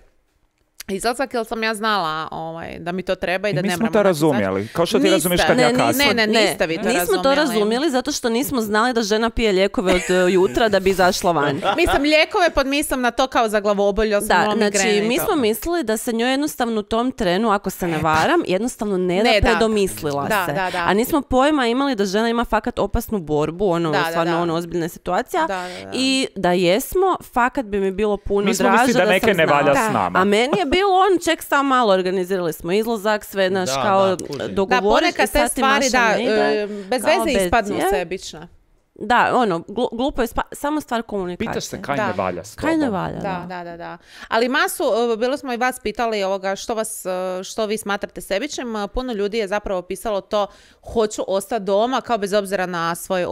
izlazak, jer sam ja znala ovaj, da mi to treba i I da mi ne smo moramo to izaći. razumjeli. Kao što ti Niste. razumiješ kad Ne, ja ni- kasnim. ne, ne, niste vi to nismo to razumjeli. razumjeli zato što nismo znali da žena pije lijekove od e, jutra da bi izašla van. Mislim, lijekove pod mislim na to kao za glavobolju, jer sam Da, imala migrene znači i mi to. smo mislili da se njoj jednostavno u tom trenu, ako se ne varam, jednostavno ne da Ne da. predomislila Da, se. da, da. A nismo pojma imali da žena ima fakat opasnu borbu, ono, Da, da, stvarno da. ono, ozbiljna situacija. Da, da, da. I da jesmo, fakat bi mi bilo puno Mi smo draže mislili da da neke sam ne znala. valja Da. s nama. A meni je bilo on, ček sam malo, organizirali smo izlazak, sve naš Da, kao da, kužim. Da, dogovoriš ponekad i te sad ti stvari, Maša da, ne ide. e, bez Kao veze bez ispadnu je. sebična. Da, ono, glu- glupo je spa- samo stvar komunikacije. Pitaš se kaj Da. ne valja s tobom. Kaj ne valja, Da, da, da, da. Ali masu, uh, bilo smo i vas pitali ovoga što vas, uh, što vi smatrate sebičnim. Uh, Puno ljudi je zapravo pisalo to hoću ostati doma kao bez obzira na svoj, uh,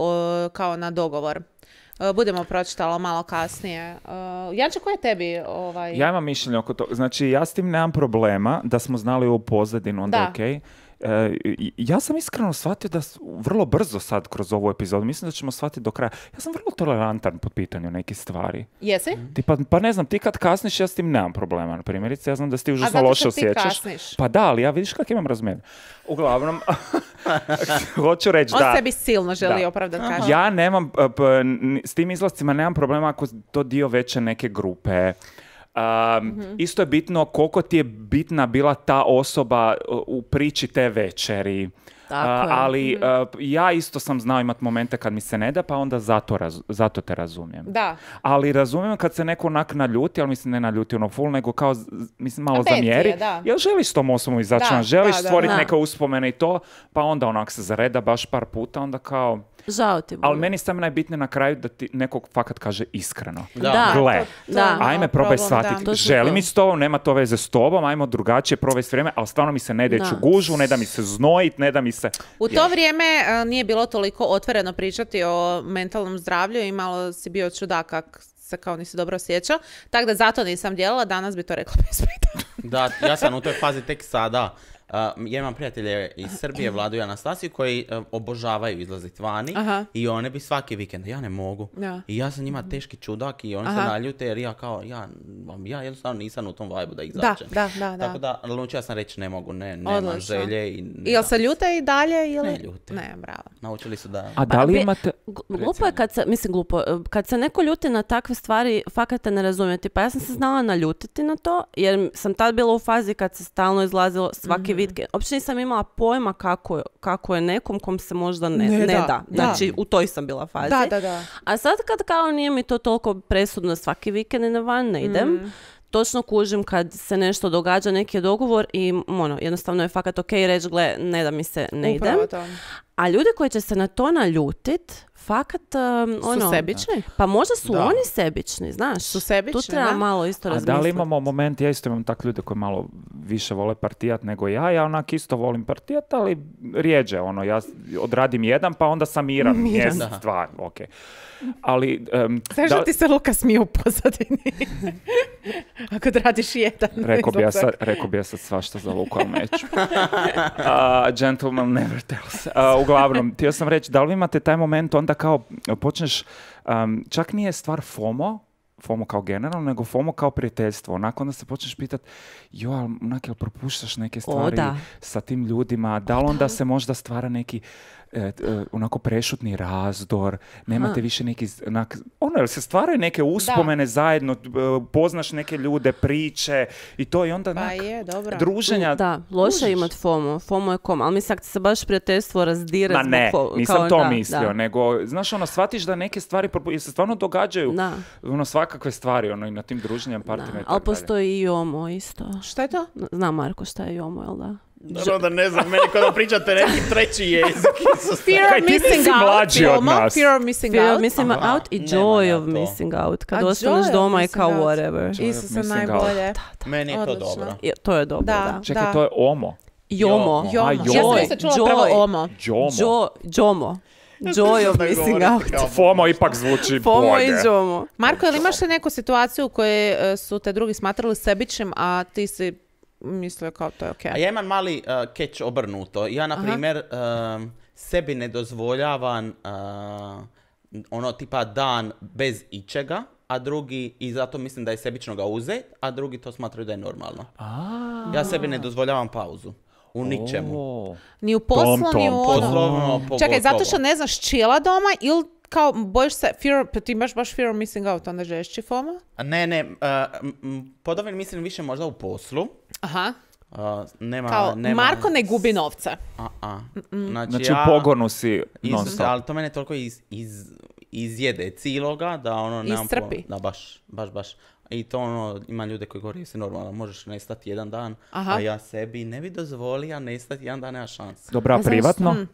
kao na dogovor. Uh, Budemo pročitala malo kasnije. Uh, Janče, ko je tebi ovaj... Ja imam mišljenje oko toga. Znači, ja s tim nemam problema da smo znali ovu pozadinu, onda Da. okej. E, i- ja sam iskreno shvatio da s- vrlo brzo sad kroz ovu epizodu, mislim da ćemo shvatiti do kraja. Ja sam vrlo tolerantan po pitanju nekih stvari. Jesi? Ti pa, pa ne znam, ti kad kasniš, ja s tim nemam problema. Na primjerice, ja znam da se ti užasno zato loše što ti osjećaš. kasniš. Pa da, ali ja vidiš kak imam razmijenje. Uglavnom, hoću reći On da... sebi silno želi Da. opravdati, kaže. Ja nemam, p- p- n- s tim izlascima nemam problema ako to dio veće neke grupe. Um, Mhm. Isto je bitno koliko ti je bitna bila ta osoba uh, u priči te večeri. Tako Uh, je. ali Mhm. uh, ja isto sam znao imat momente kad mi se ne da, pa onda zato, raz- zato te razumijem. Da. Ali razumijem kad se neko onak naljuti, ali mislim ne naljuti ono full, nego kao, z- mislim, malo A pet zamjeri. je, da. Jel želiš s tom osobom izaći Da, van? Želiš da, da, stvoriti da. neke uspomene i to, pa onda onak se zareda baš par puta, onda kao... Žao ti bude. Ali meni je samo najbitnije na kraju da ti nekog fakat kaže iskreno. Da. Gle, Da. ajme probaj problem, shvatiti, da. To su želim to. i s tobom, nema to veze s tobom, ajmo drugačije provesti vrijeme, ali stvarno mi se ne da ići Da. u gužu, ne da mi se znojit, ne da mi se... U to vrijeme e, nije bilo toliko otvoreno pričati o mentalnom zdravlju i malo si bio čudak kak se kao nisi dobro osjećao. Tako da zato nisam djelala, danas bi to rekla bez pitanja. Da, ja sam u toj fazi tek sada. Uh, ja imam prijatelje iz Srbije, Vladu i Anastasiju, koji uh, obožavaju izlaziti vani Aha. i one bi svaki vikend, ja ne mogu. Da. I ja sam njima teški čudak i oni Aha. se naljute jer ja kao, ja, ja jednostavno nisam u tom vibe da Da, izađem. da, da, da. Tako da, odlučila sam reći ne mogu, ne, nemam Odlično. želje i... I jel se ljute i dalje ili? Ne ljute. Ne, bravo. Naučili su da... A da li bi- imate... Gu- Glupo je kad se, mislim glupo, kad se neko ljuti na takve stvari, fakat te ne razumijeti. Pa ja sam se znala naljutiti na to, jer sam tad bila u fazi kad se stalno izlazilo svaki vikend. Uopće nisam imala pojma kako, je- kako je nekom kom se možda ne, Ne ne, da, da. da. Znači, u toj sam bila fazi. Da, da, da. A sad kad kao nije mi to toliko presudno svaki vikend na van ne idem, točno kužim kad se nešto događa, neki je dogovor i ono, jednostavno je fakat ok reći, gle, ne da mi se ne Upravo idem. to. A ljudi koji će se na to naljutit, fakat, um, Su ono... sebični? Pa možda su Da. oni sebični, znaš. Su sebični, Tu treba da. malo isto A razmisliti. da li imamo moment, ja isto imam tak ljude koji malo više vole partijat nego ja. Ja onak isto volim partijat, ali rijeđe, ono, ja odradim jedan, pa onda sam miran. Miran, mjesec, dva, ok. Ali... Um, Znaš da ti se Luka smije u pozadini? Ako radiš jedan. Rekao bi ja sad, rekao bi ja sad svašta za Luku, ali neću. Uh, gentleman never tells. Uh, uglavnom, htio sam reći, da li vi imate taj moment onda kao počneš, um, čak nije stvar FOMO, FOMO kao generalno, nego FOMO kao prijateljstvo. Onako onda se počneš pitati, jo, ali onak, jel propuštaš neke stvari da. sa tim ljudima? Da li onda se možda stvara neki e, e, onako prešutni razdor? Nemate Aha. više neki, onak, ono, jel se stvaraju neke uspomene zajedno, e, poznaš neke ljude, priče i to i onda Pa onak, je, dobro. druženja. Da, loše družiš. je imat FOMO. FOMO je kom, ali mislim ako se baš prijateljstvo razdire Ma zbog ne, fo- nisam kao, to da, mislio, da. nego, znaš, ono, shvatiš da neke stvari propu- se stvarno događaju, Da. ono, svakakve stvari, ono, i na tim druženjem, Da, partima i ali tako dalje. postoji i JOMO isto. Šta je to? Zna Marko šta je JOMO, jel da? Naravno da ne znam, meni kada pričate neki treći jezik. Fear Kaj, of ti missing nisi out. mlađi od Jomo, nas. Fear of missing Fear of out. missing Aha, out i nema joy ja of to. missing out. Kad A ostaneš joy of doma i missing kao out. whatever. Joy of Isuse, missing out. najbolje. Meni je to Odlično. dobro. Je, to je dobro, Da. da. Čekaj, to je OMO. JOMO. Jomo. A, Ja joy. sam se čula Joy. prvo omo. Jomo. Jo, JOMO. Joy of missing out. FOMO ipak zvuči FOMO bolje. i JOMO. Marko, ili imaš li neku situaciju u kojoj e, su te drugi smatrali sebičnim, a ti si mislio kao to je okej? A ja imam mali uh, catch obrnuto. Ja, na primjer, um, sebi ne dozvoljavam uh, ono tipa dan bez ičega, a drugi, i zato mislim da je sebično ga uzet, a drugi to smatraju da je normalno. Ja sebi ne dozvoljavam pauzu. U ničemu. O, Ni u poslu, Tom, ni tom, u tom. ono. Poslovno, pogotovo. Čekaj, zato što ne znaš čila doma ili kao bojiš se, fear, pa ti imaš baš fear of missing out, onda žešći FOMO? A Ne, ne, uh, m- m- pod ovim mislim više možda u poslu. Aha, Uh, nema, kao nema... Marko ne gubi novce. A, a. Znači, Znači, ja... u pogonu si Iz, non stop. ali to mene toliko iz, iz, izjede ciloga da ono nemam Iscrpi. po- da baš, baš, baš. I to ono, ima ljude koji govore si normalno, možeš nestati jedan dan, Aha. a ja sebi ne bi dozvolio nestati jedan dan, nema šanse. Dobra, a privatno? Mm.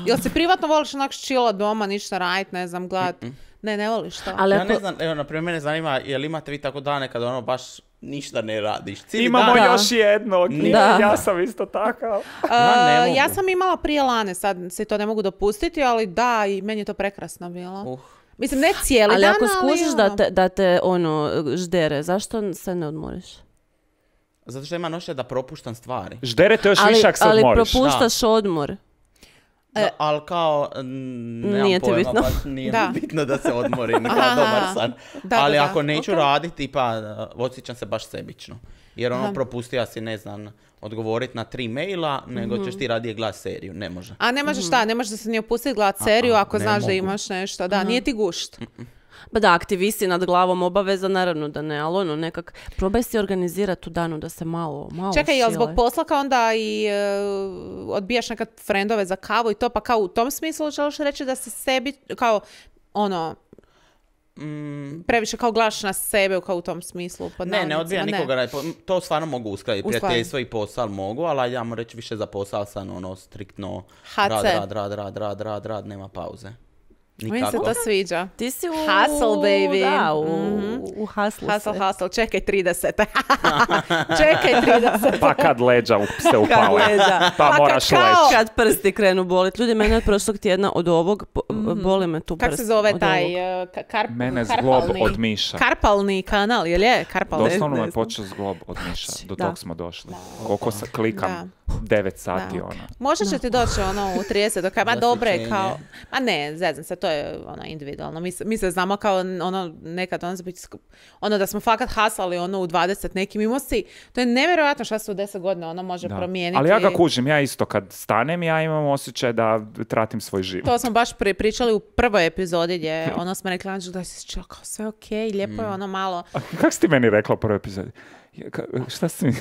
Jel si privatno voliš onak čila doma, ništa radit, ne znam, gledat? Ne, ne voliš to. Ali Ja ako- ne znam, evo, na primjer, mene zanima, jel imate vi tako dane kada ono baš ništa ne radiš? Cijeli Imamo dan. Da. još jednog. Da. Ja sam isto takav. Ja ne Uh, mogu. ja sam imala prije Lane, sad si to ne mogu dopustiti, ali da, i meni je to prekrasno bilo. Uh. Mislim, ne cijeli Ali dan, ako ali skužiš ono. da te, da te ono ždere, zašto se ne odmoriš? Zato što ima nošće da propuštam stvari. Žderete još Ali, više ako se ali odmoriš. propuštaš odmor. Da, ali kao, mm, nemam Nije ti pojma, bitno. baš nije Da. mi bitno da se odmorim, kao Aha. dobar san. Da, ali da, da. ako neću Ok. raditi, pa uh, osjećam se baš sebično. Jer ono Aha. propustio si, ne znam, odgovoriti na tri maila, nego Mhm. ćeš ti radije gledat seriju, ne može. A ne možeš šta, ne možeš da se ni opustiti gledat seriju A-a, ako ne znaš da mogu. imaš nešto. Da, nije ti gušt. Pa da, aktivisti nad glavom obaveza, naravno da ne, ali ono nekak, probaj si organizirati u danu da se malo, malo Čekaj, jel zbog šile. posla kao onda i e, odbijaš nekad frendove za kavu i to, pa kao u tom smislu želiš reći da se sebi, kao ono, Mm, previše kao gledaš na sebe kao u tom smislu. pod ne, ne navodnicima, odbija nikoga, ne, po- to stvarno mogu uskladiti. Uskladiti. Prijateljstvo i posao mogu, ali ja mu reći više za posao sam ono striktno ha rad, ce. rad, rad, rad, rad, rad, rad, nema pauze. Meni se Nikako. to sviđa. Ti si u... Hustle, baby. Da, u, Mhm. u hustle Hustle, si. hustle, čekaj trideset. Čekaj trideset. Pa kad leđa up- se Kad upale. leđa. Pa Pa moraš kad kao- leći. Kad prsti krenu bolit. Ljudi, mene od prošlog tjedna od ovog, po- boli me tu prst. Kako se zove od taj ovog. e, ka- kar, Mene karpalni- zglob od miša. Karpalni kanal, jel je? Karpalni. Doslovno ne me znam. počeo zglob od miša. Do Da. tog smo došli. Koliko se klikam. devet sati, Da. ono. Možda će ti doći ono u trideset do kraja, ma dobro je Zasićenje. kao, ma ne, zezam se, to je ono individualno, mi se, mi se znamo kao ono nekad ono, biti skup- ono da smo fakat hasali ono u dvadeset nekim imao si, to je nevjerojatno šta se u deset godina ono može Da. promijeniti. Ali ja ga kužim, ja isto kad stanem, ja imam osjećaj da tratim svoj život. To smo baš pri, pričali u prvoj epizodi gdje ono smo rekli Anđelu da si čeo kao sve okej, lijepo je ono malo. A kako si ti meni rekla u prvoj epizodi? Ja, ka- šta si mi...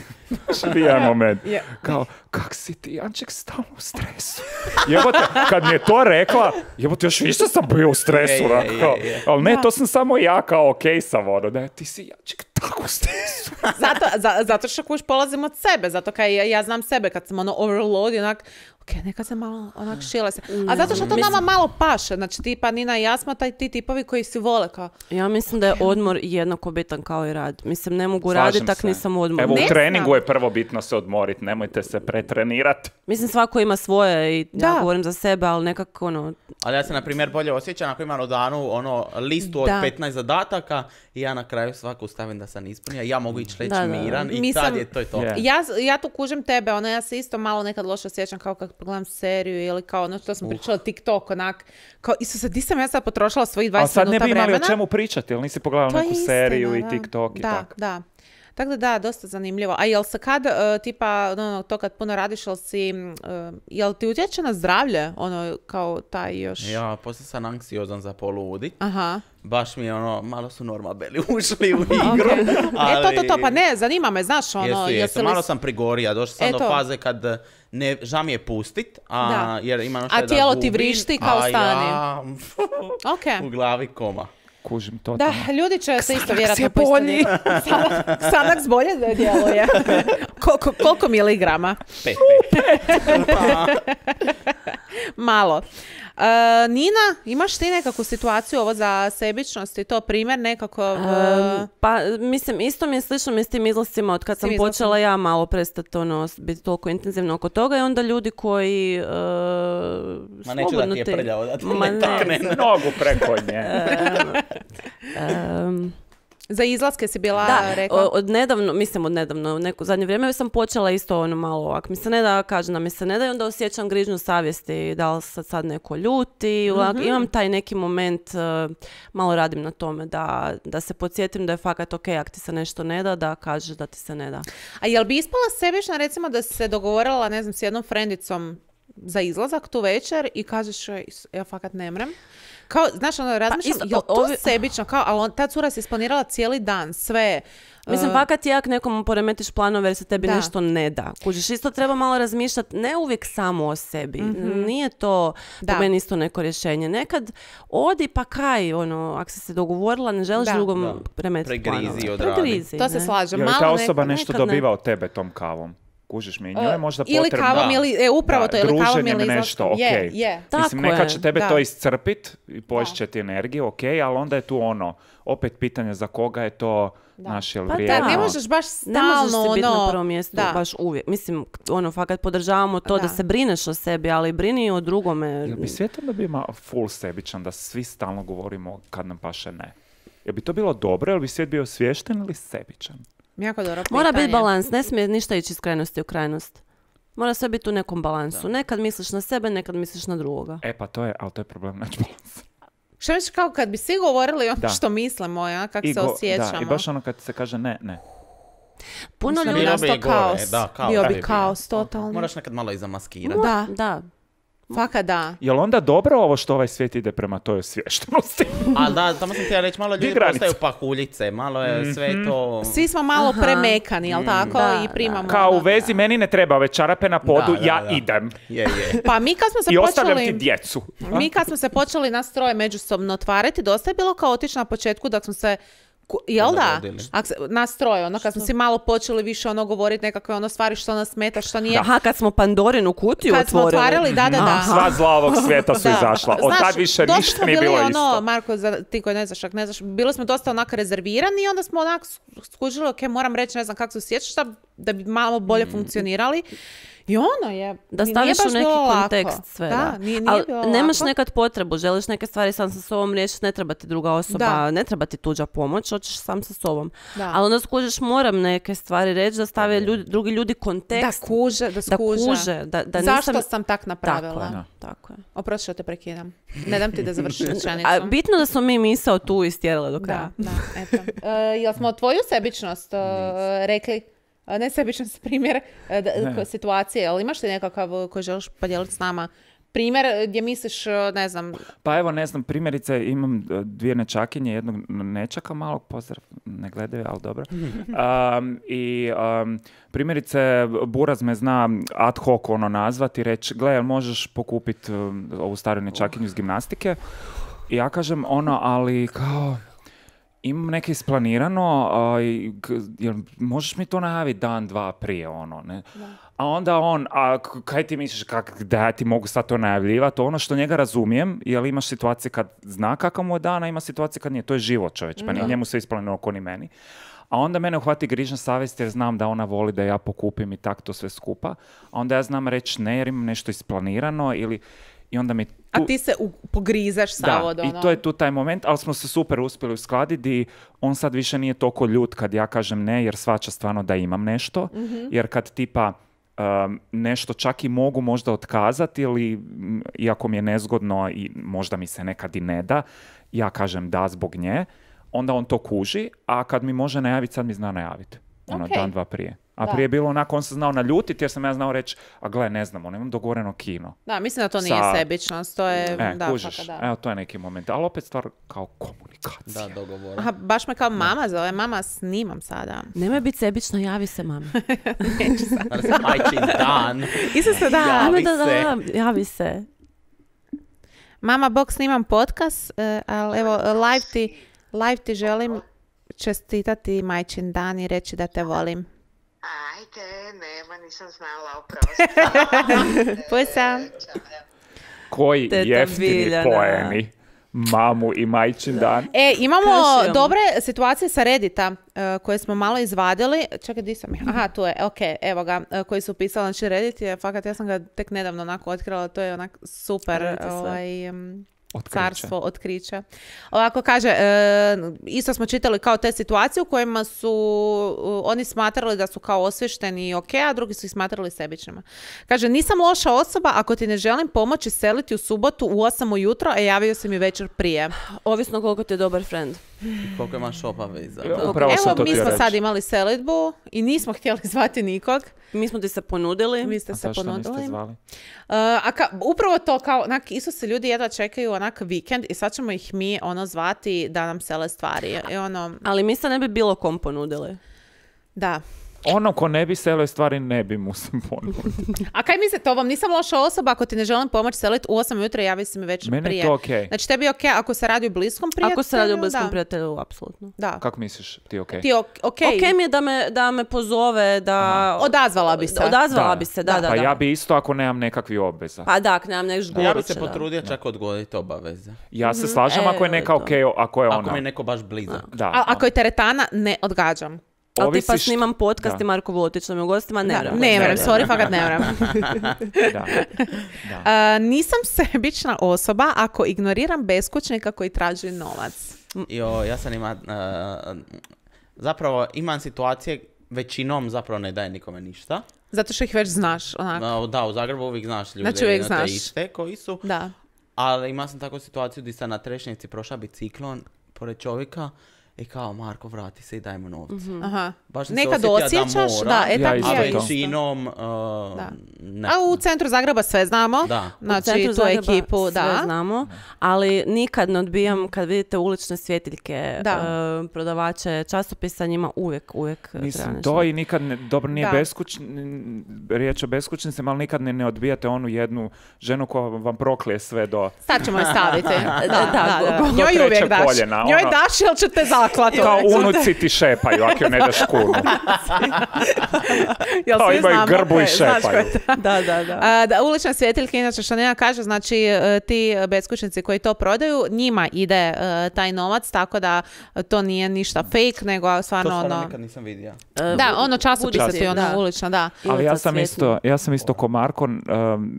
Što jedan moment. Je. Kao, kak si ti, Anček, stalno u stresu. Jebote, kad mi je to rekla, jebote, još više sam bio u stresu. Je, je, onako, je, kao, je. ali ne, Da. to sam samo ja kao okej sam, ono, da ti si, Anček, tako u stresu. Zato, za, zato što kuš polazim od sebe, zato kaj ja, ja znam sebe kad sam ono overload i onak ok, neka se malo onak šile se. A zato što to nama malo paše, znači tipa Nina i ja smo taj, ti tipovi koji si vole kao... Ja mislim da je odmor jednako bitan kao i rad. Mislim, ne mogu Slažem raditi, tak se. nisam odmor. Evo, Ne u treningu znam. je prvo bitno se odmoriti, nemojte se pretrenirati. Mislim, svako ima svoje i Da. ja govorim za sebe, ali nekako ono... Ali ja se, na primjer, bolje osjećam ako imam u danu ono, listu od Da. petnaest zadataka i ja na kraju svaku stavim da sam ispunio. Ja mogu ići reći Da, da. miran i Mislim- tad je to i to. Je. Ja, ja tu kužim tebe, ono, ja se isto malo nekad loše osjećam kao kad pogledam seriju ili kao ono što smo pričali TikTok, onak, kao, Isuse, di sam ja sad potrošila svojih A dvadeset sad ne minuta bi imali vremena? o čemu pričati, jel nisi pogledala To je neku istina, seriju i da. TikTok i da, tako. Da, tako da da, dosta zanimljivo. A jel se kad, uh, tipa, ono, to kad puno radiš, jel si, uh, jel ti utječe na zdravlje, ono, kao taj još... Ja, poslije sam anksiozan za poludit. Aha. Baš mi je ono, malo su normabeli ušli u igru. E, to, to, to, pa ne, zanima me, znaš, ono, Jesu, jesi jesu, li... malo sam prigorija, došla sam E, do to. faze kad ne, ža mi je pustit, a, Da. jer imam A šta da tijelo ti gubim, vrišti kao a stani. ja Ok. u glavi koma. Kužim to. Da, ljudi će se isto vjerojatno je bolji. Xanax Xanax bolje da djeluje. koliko, koliko miligrama? Pet, pet. Malo. Uh, Nina, imaš ti nekakvu situaciju ovo za sebičnost i to primjer nekako... uh, Um, pa, mislim, isto mi je slično mi s tim izlascima od kad sam tim počela izlascima. ja malo prestati ono, biti toliko intenzivno oko toga i onda ljudi koji uh, Ma neću da slobodno ti je te- prljavo, da ti Ma ne takne. Nogu preko nje. Um, za izlaske si bila Da, rekla. o- od nedavno, mislim od nedavno, u neko zadnje vrijeme sam počela isto ono malo, ako mi se ne da, kažem da mi se ne da i onda osjećam grižnju savjesti, da li sad, sad neko ljuti, ovak, imam taj neki moment, uh, malo radim na tome, da, da se podsjetim da je fakat ok, ako ti se nešto ne da, da kažeš da ti se ne da. A jel bi ispala sebična recimo da si se dogovorila, ne znam, s jednom frendicom za izlazak tu večer i kažeš joj, ja fakat ne mrem. Kao, znaš, ono, razmišljam, isto, jel to ovi- sebično? Kao, ali on, ta cura si isplanirala cijeli dan, sve. Mislim, Uh, fakat je jak nekom poremetiš planove jer se tebi Da. nešto ne da. Kužiš, isto treba malo razmišljati, ne uvijek samo o sebi. Nije to Da. po meni isto neko rješenje. Nekad odi pa kaj, ono, ako si se dogovorila, ne želiš Da. drugom Da. premetiti Pregrizi planove. i odradi. Pregrizi, To se ne? slažem. Je li Malo ta neko- osoba nešto nekad ne. dobiva od tebe tom kavom? Kužiš mi, njoj je možda Ili potrebno... kavom, Da. ili, e, upravo Da, to, ili kavom druženjem ili nešto, izlaskom. Je, okej. je. Tako Mislim, neka je, će tebe da. to iscrpit i poješće ti energiju, ok, ali onda je tu ono, opet pitanje za koga je to, naš jel Pa vrijedno. da. Ne možeš baš Ne možeš stalno, si biti ono, na prvom mjestu da. baš uvijek. Mislim, ono, fakat podržavamo to da. Da. se brineš o sebi, ali brini i o drugome. Jel bi svijetan da bi ima full sebičan, da svi stalno govorimo kad nam paše ne? Jel bi to bilo dobro, jel bi svijet bio svješten ili sebičan? Jako dobro Mora biti pitanje. balans, ne smije ništa ići iz krajnosti u krajnost. Mora sve biti u nekom balansu. Nekad misliš na sebe, nekad misliš na drugoga. E pa to je, ali to je problem naći balans. Što misliš kao kad bi svi govorili ono Da. što mislimo, ja, kako I se go- osjećamo. Da, i baš ono kad se kaže ne, ne. Puno Mislim, ljudi... bi Bilo bi nastao i gore, kaos. da, kaos Bio bi bi bio. kaos, totalno. Moraš nekad malo i zamaskirati. Da, Da. fakat da. Jel onda dobro ovo što ovaj svijet ide prema toj osviještenosti? Ali da, tamo sam htjela reći, malo ljudi granica? postaju pahuljice, malo je sve to... Svi smo malo Aha. premekani, jel tako? Da, I primamo. Kao u ono. vezi, meni ne treba ove čarape na podu, Da, da, ja da. idem. Je, je. Pa mi kad smo se I ostavljam ti počeli... djecu. Mi kad smo se počeli nas troje međusobno otvarati, dosta je bilo kaotično na početku dok smo se... ku- Jel da? Dogodili. Ak se, nas troje, ono, kad smo si malo počeli više ono govoriti nekakve ono stvari što nas smeta, što nije... Aha, kad smo Pandorinu kutiju Kad smo otvorili. otvarali, da, da, da. Sva zla ovog svijeta su Da. izašla. Od Znaš, tad više dosta ništa smo nije bili bilo ono, isto. Marko, za, ti koji ne znaš, ak ne znaš, bili smo dosta onako rezervirani i onda smo onak skužili, ok, moram reći, ne znam kako se osjećaš, da, da bi malo bolje funkcionirali. I ono je, Da nije staviš baš u neki bilo lako. kontekst sve. Da, Da, nije, nije Ali bilo nemaš lako. nekad potrebu, želiš neke stvari sam sa sobom riješiti, ne treba ti druga osoba, Da. ne treba ti tuđa pomoć, hoćeš sam sa sobom. Da. Ali onda skužiš, moram neke stvari reći, da stave ljudi, drugi ljudi Da kontekst. kuže, da da skuže. kuže, da, da Zašto nisam... sam tak napravila? Tako je, Da. tako je. Oprosti što te prekidam. Ne dam ti da završiš rečenicu. A bitno da smo mi misao tu istjerali do kraja. Da, da, eto. E, jel smo tvoju sebičnost e, rekli? E, Ne sebičnost, primjer e, da- Ne. ko- situacije, ali imaš li nekakav e, koji želiš podijeliti s nama? Primjer e, gdje misliš, e, ne znam, Pa evo, ne znam, primjerice imam e, dvije nečakinje, jednog nečaka malog, pozdrav, ne gledaju, ali dobro. Um, I um, primjerice, Buraz me zna ad hoc ono nazvati i reći, gle, jel možeš pokupiti ovu staru nečakinju iz gimnastike? I ja kažem ono, ali kao, imam neke isplanirano, a, i, k- jel, možeš mi to najaviti dan, dva prije, ono, ne? A onda on, a k- kaj ti misliš, kak, da ja ti mogu sad to najavljivati? Ono što njega razumijem, jer imaš situacije kad zna kakav mu je dan, a ima situacije kad nije. To je život, čovječ, pa nije njemu sve isplanirano ko ni meni. A onda mene uhvati grižna savjest jer znam da ona voli da ja pokupim i tak to sve skupa. A onda ja znam reći ne jer imam nešto isplanirano ili... I onda mi tu... A ti se u, pogrizeš sav od Da, ono. i to je tu taj moment, ali smo se super uspjeli uskladiti i on sad više nije toliko ljut kad ja kažem ne, jer shvaća stvarno da imam nešto, jer kad tipa um, nešto čak i mogu možda otkazati ili m, iako mi je nezgodno i možda mi se nekad i ne da, ja kažem da zbog nje, onda on to kuži, a kad mi može najaviti, sad mi zna najaviti. Ono, Ok. dan, dva prije. A Da. prije je bilo onako, on se znao naljutiti jer sam ja znao reći, a gle, ne znam, on imam dogovoreno kino. Da, mislim da to nije Sa- sebičnost, to je... E, da, kužiš, fakat da. evo to je neki moment, ali opet stvar kao komunikacija. Da, dogovor. Aha, baš me kao mama zove, mama snimam sada. Nemoj biti sebična, javi se mami. Danas je majčin dan. Isto se da. Javi Ajme da, se. da, javi se. Mama, bok, snimam podcast, eh, ali evo, live ti, live ti želim čestitati majčin dan i reći da te volim. Ajde, nema, nisam znala, oprosti. Pusa. Koji Teta jeftini Biljana. poeni. Mamu i majčin dan. E, imamo Kršimo. dobre situacije sa Reddita eh, koje smo malo izvadili. Čekaj, di sam ih? Aha, tu je, ok, evo ga, eh, koji su pisali. Znači, Reddit je, fakat, ja sam ga tek nedavno onako otkrila, to je onak super Reddit je sve. ovaj, em, Otkriće. carstvo, otkriće. Ovako kaže, e, isto smo čitali kao te situacije u kojima su uh, oni smatrali da su kao osvješteni i ok, a drugi su ih smatrali sebičnima. Kaže, nisam loša osoba ako ti ne želim pomoći seliti u subotu u osam ujutro, a javio si mi večer prije. Ovisno koliko ti je dobar friend. Koliko imaš obaveza. Ja, Da. upravo sam Evo, to mi htio smo reći. sad imali selidbu i nismo htjeli zvati nikog. Mi smo ti se ponudili. Vi ste A se zašto ponudili. niste zvali? Uh, a ka, upravo to kao, onak, isto se ljudi jedva čekaju onak vikend i sad ćemo ih mi ono zvati da nam sele stvari. I ono, Ali mi se ne bi bilo kom ponudili. da. Ono ko ne bi selio stvari, ne bi mu se ponuditi. A kaj mislite, ovom nisam loša osoba ako ti ne želim pomoći seliti u osam ujutro, javi si mi večer Meni prije. je to okej. Znači tebi je okej ako se radi o bliskom prijatelju. Ako se radi o bliskom da. prijatelju, apsolutno. Da. Kako misliš ti okej? Ti ok, okej. Ok mi je da me, da me pozove, da... Odazvala bi se. Odazvala bi se, da, da, da. Pa ja bi isto ako nemam nekakvih obveza. Pa da, ako nemam nešto Ja bi goruće, se da. potrudio čak odgoditi obaveze. Ja se slažem ako je E, neka to. okej, ako je Ako ona. mi je neko baš blizak. Da, A ako je teretana, ne odgađam. Ali tipa ovisiš- snimam podcast da. i Marko Vulotić nam je u gostima, ne Da, vrem. ne vrem, ne, sorry, fakat ne vrem. Da. Uh, nisam sebična osoba ako ignoriram beskućnika koji traži novac. Jo, ja sam ima... uh, zapravo imam situacije, većinom zapravo ne daje nikome ništa. Zato što ih već znaš, onako. Uh, da, u Zagrebu uvijek znaš ljude Znači, uvijek te znaš. iste koji su. Da. Ali imao sam takvu situaciju gdje sam na Trešnjevci prošla biciklon pored čovjeka i kao, Marko, vrati se i daj mu novce. Aha. Baš sam Nekad se osjetio osjećaš, da, da, mora, e Ja tako isto a ja to. isto. većinom uh, Da. ne. A u centru Zagreba sve znamo. Da. U Znači, centru tu Zagreba ekipu, sve da. znamo, ali nikad ne odbijam kad vidite ulične svjetiljke, Da. e, prodavače časopisa, njima uvijek, uvijek treba Mislim, nešto. to i nikad, ne, dobro nije Da. beskućn, riječ o beskućnicima, ali nikad ne, ne odbijate onu jednu ženu koja vam proklije sve do... Sad ćemo je staviti. Da, da, da. do Njoj trećeg uvijek daš. koljena, Njoj ono. daš ili će te zaklati. Kao unuci ti šepaju, ako joj ne daš kunu. Jel Kao svi imaju znamo grbu ko i je, znaš ko je šepaju. to? Da, da, da. A, da, ulične svjetiljke, inače što Nena kaže, znači e, ti beskućnici koji to prodaju, njima ide e, taj novac, tako da to nije ništa fake, nego To stvarno stvarno ono... nikad nisam vidio. E, Da, ono časopise Budite, ti, ono da. ulično, da. Ali ja Ulica sam Cvjetna. isto, ja sam isto ko Marko, um,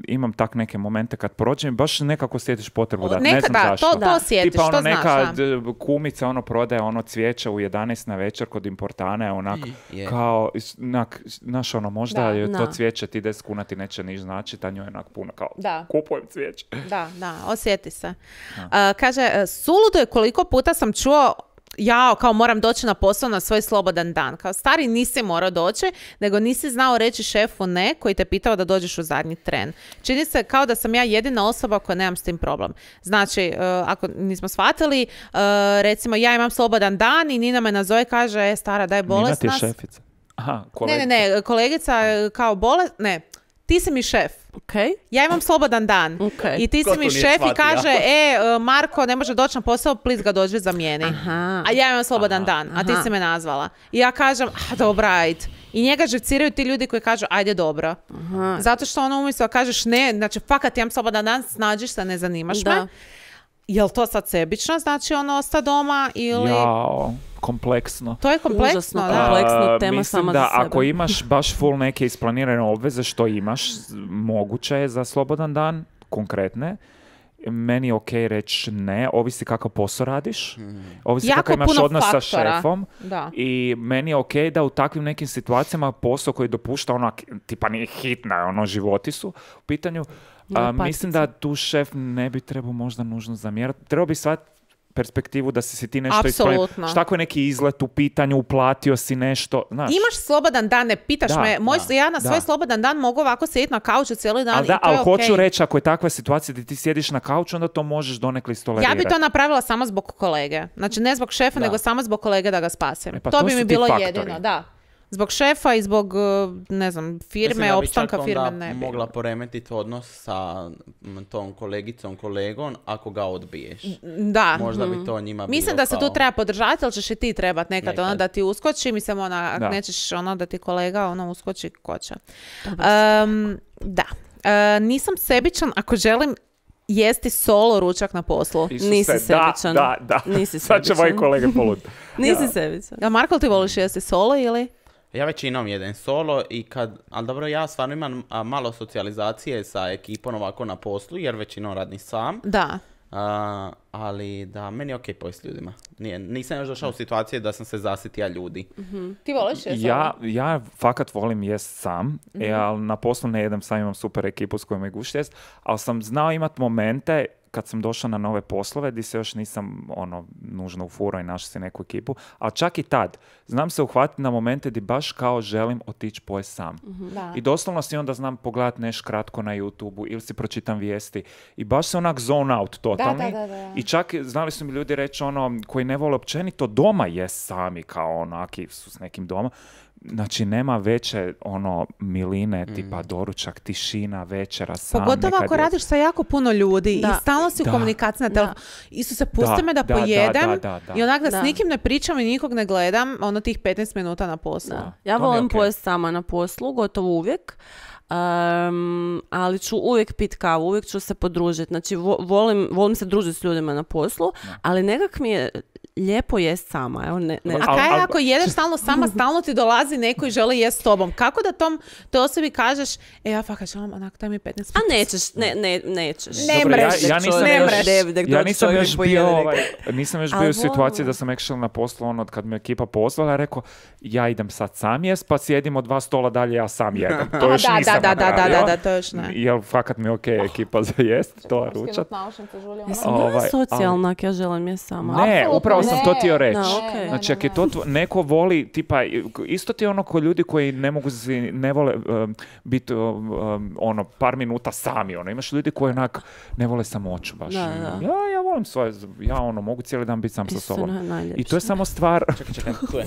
imam tak neke momente kad prođem, baš nekako sjetiš potrebu da, ne Neka, znam da, zašto. to, to osjetiš, Tipa ono to znaš, neka da. d- kumica ono prodaje ono cvijeće u jedanaest na večer kod importane, onak Je. kao, is- onak, znaš ono, možda Da. je to Da. cvijeće ti deset kuna ti neće niš znači, a njoj je onak puno kao, Da. kupujem cvijeće. Da, da, osjeti se. A, kaže, e, suludo je koliko puta sam čuo jao, kao moram doći na posao na svoj slobodan dan. Kao stari nisi morao doći, nego nisi znao reći šefu ne koji te pitao da dođeš u zadnji tren. Čini se kao da sam ja jedina osoba koja nemam s tim problem. Znači, e, ako nismo shvatili, e, recimo ja imam slobodan dan i Nina me nazove i kaže, e, stara, daj Nina ti je bolesna. šefica. Aha, Ne, kolegica. ne, ne, kolegica e, kao bolest, ne, ti si mi šef. Okay. Ja imam slobodan dan. Okay. I ti Ko si to mi nije šef i shvatio? kaže, e, uh, Marko ne može doći na posao, please ga dođi zamijeni. Aha. A ja imam slobodan dan, a ti Aha. si me nazvala. I ja kažem, a dobra, ajde. I njega živciraju ti ljudi koji kažu, ajde dobro. Aha. Zato što ono umjesto da kažeš ne, znači fakat imam slobodan dan, snađiš se, ne zanimaš Da. me. Jel to sad sebično, znači ono osta doma ili... Jao, kompleksno. To je kompleksno, Užasno da. kompleksno. A, tema mislim sama da za sebe. ako imaš baš full neke isplanirane obveze što imaš, z- moguće je za slobodan dan, konkretne. Meni je okej reći ne, ovisi kakav posao radiš, ovisi Jako kakav imaš puno odnos sa faktora. šefom Da. i meni je okej da u takvim nekim situacijama posao koji dopušta onak, tipa nije hitna, ono životi su u pitanju, Ne, a, patice. mislim da tu šef ne bi trebao možda nužno zamjerati, trebao bi shvatiti perspektivu da si si ti nešto isplanirao. Apsolutno. Šta ako je neki izlet u pitanju, uplatio si nešto, znaš. Imaš slobodan dan, ne pitaš Da, me, moj, da, ja na da. svoj slobodan dan mogu ovako sjediti na kauču cijeli dan Ali da, i to ali je hoću okej. reći, ako je takva situacija da ti sjediš na kauču, onda to možeš donekle Ja istolerirati. bi to napravila samo zbog kolege. Znači ne zbog šefa, Da. nego samo zbog kolege da ga spasim. E pa to to bi su mi ti bilo faktori. jedino, da. Zbog šefa i zbog, uh, ne znam, firme, Mislim da bi opstanka čak firme onda ne bi. mogla poremetiti odnos sa m, tom kolegicom, kolegom, ako ga odbiješ. Da. Možda bi to njima bilo Mislim da se kao... tu treba podržati, ali ćeš i ti trebat nekad, Nekad. ono da ti uskoči, mislim ona, ako Da. nećeš ono da ti kolega ono uskoči, ko će. Um, da. E, nisam sebičan ako želim jesti solo ručak na poslu. Isuse, Nisi da, sebičan. Da, da. Nisi Sad će moji sebičan. kolege polud. Nisi sebičan. A Marko, ti voliš jesti solo ili? Ja većinom jedem solo i kad, ali dobro, ja stvarno imam a, malo socijalizacije sa ekipom ovako na poslu, jer većinom radim sam, Da. a, ali da, meni je okej pojesti ljudima. Nije, nisam još došao u situaciju da sam se zasitija ljudi. Ti voliš jesti Ja, ja fakat volim jest sam, Mhm. e, ali na poslu ne jedem sam, imam super ekipu s kojom je gušt jest, ali sam znao imat momente kad sam došao na nove poslove, di se još nisam ono, nužno ufurao i našao si neku ekipu, ali čak i tad, znam se uhvatiti na momente di baš kao želim otići pojest sam. Da. I doslovno si onda znam pogledat nešto kratko na YouTubeu ili si pročitam vijesti i baš se onak zone out totalni. Da, da, da, da. I čak znali su mi ljudi reći ono, koji ne vole općenito doma jest sami kao onaki su s nekim doma. Znači, nema veće ono miline, tipa doručak, tišina, večera, sam. Pogotovo nekad ako je- radiš sa jako puno ljudi Da. i stalno si u Da. komunikaciji na Da. telefonu. Isuse, pusti Da, me da, da, da, pojedem da, da, da. i onak da, Da. s nikim ne pričam i nikog ne gledam, ono tih petnaest minuta na poslu. Da. Ja to mi je volim okej. pojesti sama na poslu, gotovo uvijek. Um, ali ću uvijek pit kavu, uvijek ću se podružiti. Znači, vo- volim, volim se družiti s ljudima na poslu, ali nekak mi je lijepo jest sama. Evo, ne, ne A Al- kaj al- ako jedeš stalno sama, stalno ti dolazi neko i želi jest s tobom? Kako da tom toj osobi kažeš, e ja fakat želim, onak, daj mi petnaest A minuta. nećeš, ne, ne, nećeš. Ne Dobro, mreš, ja, ja nisam ne još, mreš. ja nisam još bio, ovaj, nisam još Ali bio u situaciji volim. da sam actually na poslu ono, kad me ekipa pozvala, rekao, ja idem sad sam jest, pa sjedim od dva stola dalje, ja sam jedem. To A, još da, nisam da, da, da, napravio. da, da, to još ne. Jel, fakat mi je okej ekipa za jest, to ručat. Jesam Ovaj, ja socijalna, ak ja želim je sama. Ne, Apsolutno upravo sam to ne. htio reći. Da, okej. Znači, ako je to tvo- neko voli, tipa, isto ti je ono ko ljudi koji ne mogu si, ne vole um, biti um, um, ono, par minuta sami, ono, imaš ljudi koji onak ne vole samoću baš. Da, da. Ja, ja volim svoje, ja ono, mogu cijeli dan biti sam sa Istina, sobom. najljepše. I to je samo stvar, Čekaj, čekaj, tu je.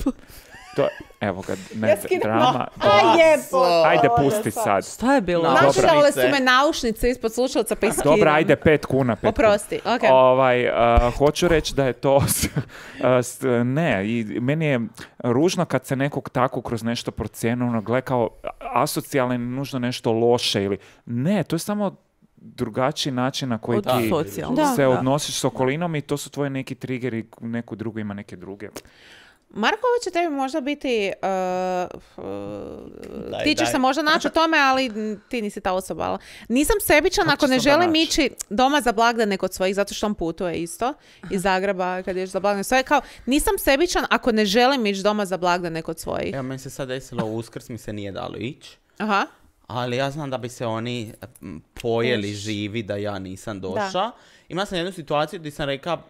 to, evo ga, ne, Ja skinem drama. no- A jebote. Ajde, pusti sad. Šta je bilo? No. Dobra. Našale su me naušnice ispod slušalca pa iskidam. Dobro, ajde, pet kuna. Pet Oprosti, kuna. okej. Ovaj, uh, hoću reći da je to, s- uh, s- ne, i meni je ružno kad se nekog tako kroz nešto procijeni, ono, gle kao asocijalno ili nužno nešto loše ili, ne, to je samo drugačiji način na koji Od ti socijalno. Da. se Da. odnosiš s okolinom i to su tvoji neki triggeri, neko drugo ima neke druge. Marko, ovo će tebi možda biti, uh, uh, Daj, ti ćeš daj. se možda naći u tome, ali mm, ti nisi ta osoba. ali- Nisam sebičan Kako ako će ne se onda želim naći? ići doma za blagdane kod svojih, zato što on putuje isto iz Zagreba kad ješ za blagdane svoje. Kao, nisam sebičan ako ne želim ići doma za blagdane kod svojih. Evo, meni se sad desilo u Uskrs, mi se nije dalo ići. Aha. Ali ja znam da bi se oni m, pojeli živi da ja nisam došla. Imao sam jednu situaciju gdje sam rekao, uh,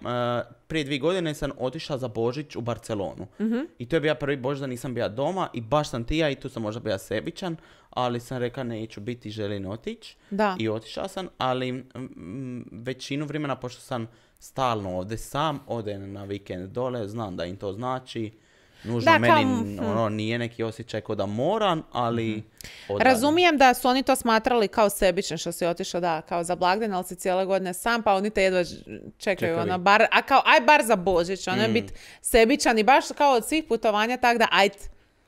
prije dvije godine sam otišla za Božić u Barcelonu. I to je bio prvi Božić da nisam bila doma i baš sam ti ja i tu sam možda bila sebičan, ali sam rekao neću biti, želim otići. Da. I otišla sam, ali mm, većinu vremena, pošto sam stalno ovdje sam, odem na vikend dole, znam da im to znači. nužno Da, kao, meni hm. ono, nije neki osjećaj kao da moram, ali odradim. Razumijem da su oni to smatrali kao sebični što si otišao, da, kao za blagdan, ali si cijele godine sam, pa oni te jedva ž- čekaju, Čekali. ono, bar, a kao, aj bar za Božić, ono je Mm. biti sebičan i baš kao od svih putovanja, tak da, ajde,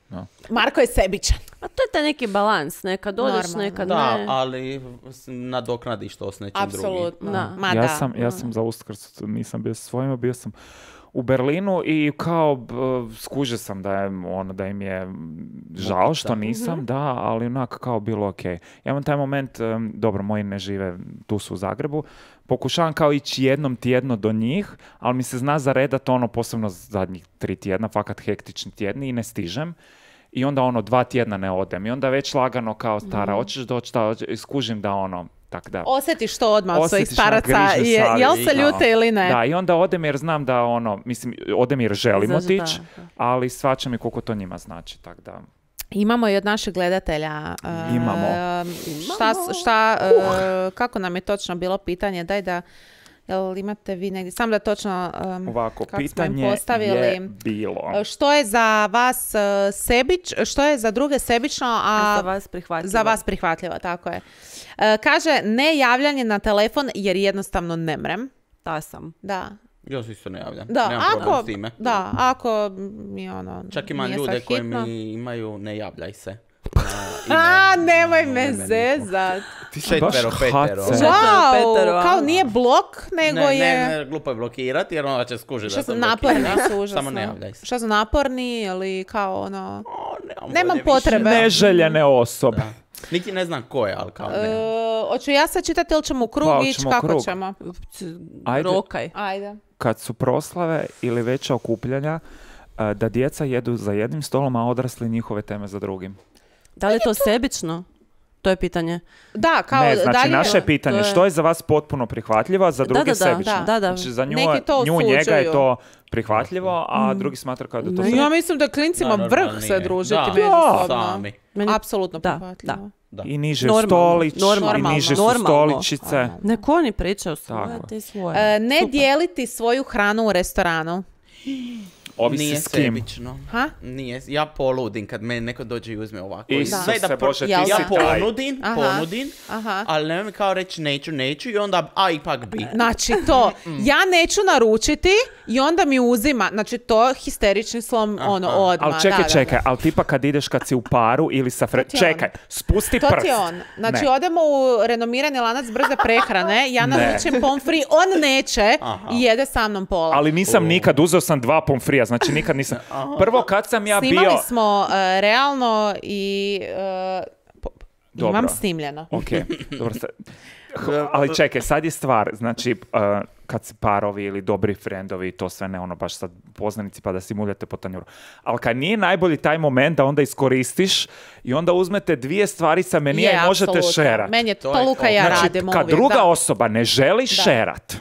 No. Marko je sebičan. A to je taj neki balans, nekad odeš, Normalno. nekad Da, ne. ali s- nadoknadiš to s nečim drugim. Apsolutno. Da. Ma ja da. sam, ja sam za Uskrs, nisam bio sa svojima, bio sam u Berlinu i kao b- skužio sam da, je, ono, da im je žao što nisam, da, ali onak kao bilo ok. Ja imam taj moment, em, dobro, moji ne žive, tu su u Zagrebu, pokušavam kao ići jednom tjedno do njih, ali mi se zna zaredat ono, posebno zadnjih tri tjedna, fakat hektični tjedni i ne stižem. I onda ono, dva tjedna ne odem. I onda već lagano kao stara, hoćeš doći, da, hoće- skužim da ono, tak da. Osjetiš to odmah od svojih Osjetiš na staraca, grižnju je, jel savjesti, se da. ljute ili ne? Da, i onda odem jer znam da ono, mislim, odem jer želim Znači, da, otići, da. ali shvaćam i koliko to njima znači, tak da. Imamo i od naših gledatelja. uh, Imamo. Šta, s- šta, uh, kako nam je točno bilo pitanje? Daj da, jel imate vi negdje, sam da točno um, Ovako, kako smo im pitanje postavili. je bilo. Što je za vas uh, sebič, što je za druge sebično, a Za vas prihvatljivo. za vas prihvatljivo, tako je. Uh, kaže, ne javljanje na telefon jer jednostavno ne mrem. Ta sam. Da. Ja se isto ne javljam. Da, Nemam problem ako, s time. da, ako mi ono, Čak imam nije sad ljude koji hitno. mi imaju ne javljaj se. A, nemoj no, me ne meni niko. zezat. Ti si baš Četvero, petero. hace. Wow, petero, kao a? nije blok, nego Ne, je... ne, ne, glupo je blokirati jer onda će skužiti Što da su sam naporni blokiran. su užasno. Samo ne javljaj se. Što su naporni ili kao ono... O, nemam Nemam volje više. potrebe. Neželjene osobe. Da. Niti ne znam ko je, ali kao ne. E, hoću ja sad čitati ili ćemo u krug Pa, ići, hoćemo u kako krug. ćemo? Ajde. Rokaj. Ajde. Kad su proslave ili veća okupljanja, a, da djeca jedu za jednim stolom, a odrasli njihove teme za drugim. Da li je to sebično? To je pitanje. Da, kao Ne, znači dalje... naše je pitanje, to je- što je za vas potpuno prihvatljivo, a za druge da, da, sebično. da. Da, da. Znači za nju, Neki to nju njega je osuđuju. to prihvatljivo, a drugi smatra kao da to... Ne. sve- Ja mislim da klincima Da, vrh normalnije. se družiti Da, međusobno. sami. Meni- Apsolutno Da, prihvatljivo. Da. I niže Normalno, stolić, normalno, i niže su normalno. stoličice. Nek oni pričaju svoje, Tako. ti svoje. E, ne Super. dijeliti svoju hranu u restoranu. Ovisi Nije s kim. sebično. Ha? Nije, ja poludim kad me neko dođe i uzme ovako. I I sve sve da se pro- Bože, ti Jel ja si taj. ponudim, Aha. ponudim, Aha. ali nemoj mi kao reći neću, neću i onda, a ipak bi. Znači to, ja neću naručiti i onda mi uzima, znači to histerični slom, ono, odmah. Ali čekaj, da, da, čekaj, ali tipa kad ideš kad si u paru ili sa fre... ti je on. Čekaj, spusti To prst. ti je on. Znači, Ne. odemo u renomirani lanac brze prehrane, ja Ne. naručim pomfri, on neće Aha. i jede sa mnom pola. Ali nisam nikad, uzeo sam dva pomfrija, znači nikad nisam... Prvo kad sam ja Snimali bio... smo e, realno i e, po- Dobro. imam snimljeno. Ok, dobro se... H- Ali čekaj, sad je stvar, znači, uh, kad si parovi ili dobri frendovi, to sve ne ono baš sad poznanici pa da si muljate po tanjuru. Ali kad nije najbolji taj moment da onda iskoristiš i onda uzmete dvije stvari sa menija Je, i možete apsolutno. šerat. Meni je To to je Luka i ja Znači, radimo kad uvijek. druga da. osoba ne želi šerat,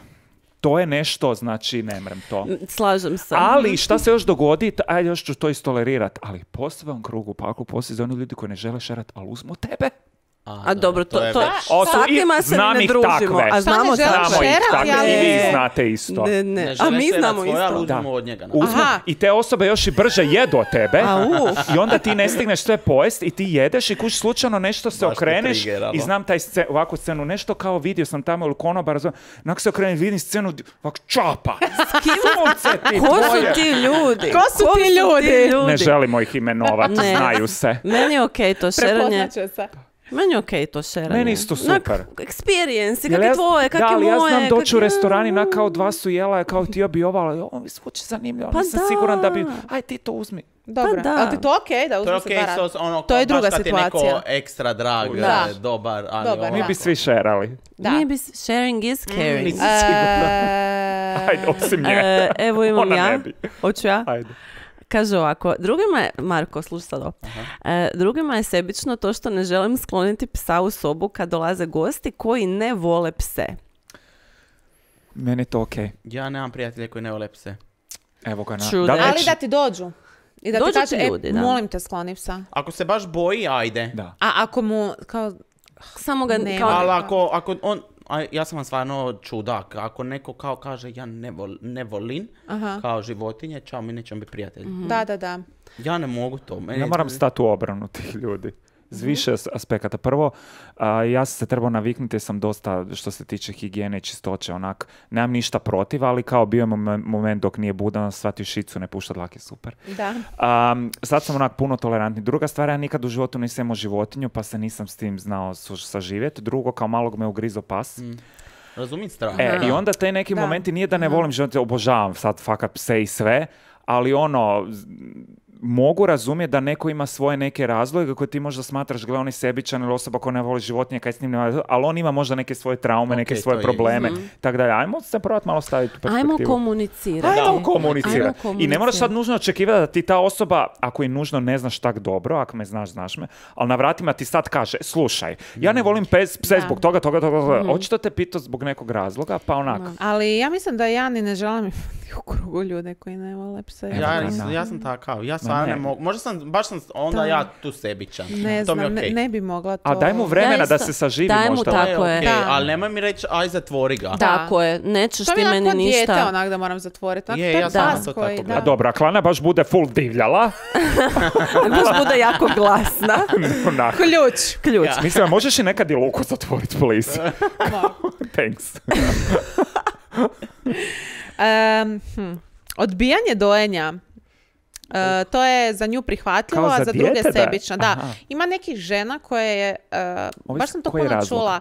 to je nešto, znači, ne mrem to. Slažem se. Ali šta se još dogodi, t- ajde još ću to istolerirat, ali poseban krug u paklu postoji za oni ljudi koji ne žele šerat, ali uzmu tebe. A dobro, to, je to, već- O, su s takvima i- se znam ne ih družimo. takve. A Šta znamo ne žele takve. Znamo ih šerat, takve ja i vi ne- znate isto. Ne, Ne ne. A žele mi šerat znamo svoje, ali isto. uzmu od njega. na Uzmu Aha. i te osobe još i brže jedu od tebe Au. i onda ti ne stigneš sve pojest i ti jedeš i kuć slučajno nešto se Baš te okreneš triggeralo. i znam taj sce, ovakvu scenu, nešto kao vidio sam tamo ili konobar, onako se okrenem, vidim scenu, ovako čapa, sunce ti Ko su tvoje. ti ljudi? Ko su ti ljudi? Ne želimo ih imenovati, Ne. znaju se. Meni je okej to šeranje. Prepoznaće se. Meni je okej to šeranje. Meni isto super. Onak, experience, Jel kak je ja- tvoje, kak da, je ali ja moje. znam doći u kak je- restorani na kao dva su jela, kao ti bi ovo, ali ovo mi zvuči zanimljivo, Pa nisam da. siguran da bi, aj ti to uzmi. Dobro. Pa da. Ali ti to okej da To je uzme okej, se dva so, ono, To je baš druga kad je neko situacija. ekstra drag, Da. e, dobar, ali Dobar, ono- Mi da. bi svi šerali. Da. Nije bi sharing is caring. nisam E, Ajde, osim nje. E, evo imam Ona ja. ne bi. Hoću ja? Ajde. Kaže ovako, drugima je, Marko, slušaj sad ovo. E, drugima je sebično to što ne želim skloniti psa u sobu kad dolaze gosti koji ne vole pse. Meni je to okej. Ja nemam prijatelje koji ne vole pse. Evo ga na... True Da, that. Ali već- da ti dođu. I da Dođu ti kaže, ti e, ljudi, da. molim te skloni psa. Ako se baš boji, ajde. Da. A ako mu, kao, Samo ga Nema. kao... Ali ako, ako on, a ja sam vam stvarno čudak. Ako neko kao kaže ja ne, vol, ne volim Aha. kao životinje, čao, mi nećemo biti prijatelji. Mm-hmm. Da, da, da. Ja ne mogu to. Meni Ja moram stati u obranu tih ljudi. Z više aspekata. Prvo, a, ja sam se trebao naviknuti, sam dosta, što se tiče higijene i čistoće, onak, nemam ništa protiv, ali kao bio je moment dok nije budan, shvatio šicu, ne pušta dlake, super. Da. A, sad sam onak puno tolerantni. Druga stvar, ja nikad u životu nisam imao životinju, pa se nisam s tim znao saživjeti. Drugo, kao malog me ugrizo pas. Mm. Razumijem strah. E, i onda te neki Da. momenti, nije da ne volim životinje, obožavam sad fakat pse i sve, ali ono, z- mogu razumjeti da neko ima svoje neke razloge koje ti možda smatraš, gle, on je sebičan ili osoba koja ne voli životinje, kaj s njim nema, ali on ima možda neke svoje traume, Ok, neke to svoje je. probleme. Mhm. Tako da, ajmo se probati malo staviti u perspektivu. Ajmo komunicirati. Ajmo Da. komunicirati. Ajmo I ne moraš sad komunicirati. nužno očekivati da ti ta osoba, ako i nužno ne znaš tak dobro, ako me znaš, znaš me, ali na vratima ti sad kaže, slušaj, ja ne volim pes, pse Da. zbog toga, toga, toga, toga. Mhm. Očito te pitao zbog nekog razloga, pa onak. Ali ja mislim da ja ni ne želim u krugu ljude koji ne vole pse. Evo Ja, ga, nisam- da. ja sam takav, ja stvarno ne. ne mogu, možda sam, baš sam onda Da. ja tu sebičan. Ne to mi je znam, okej. ne, ne bi mogla to. A daj mu vremena Ja da isto. se saživi Daj mu možda. tako. To je je. okej, Da. ali nemoj mi reći, aj zatvori ga. Da. Tako je, nećeš To mi ti je meni onako dijete ništa. onak da moram zatvoriti. Onak, Je, to ja sam pas to koji, tako da. A dobro, ako Lana baš bude full divljala, Baš bude jako glasna. onak. Ključ. Ključ. Ja. Mislim, možeš i nekad i Luku zatvoriti, please. Thanks. Em, hm. Odbijanje dojenja. E, to je za nju prihvatljivo, Kao a za za druge dijete da je? sebično. Da. Aha. Ima nekih žena koje je, e, Ovisi baš sam to koji je puno razlog. čula.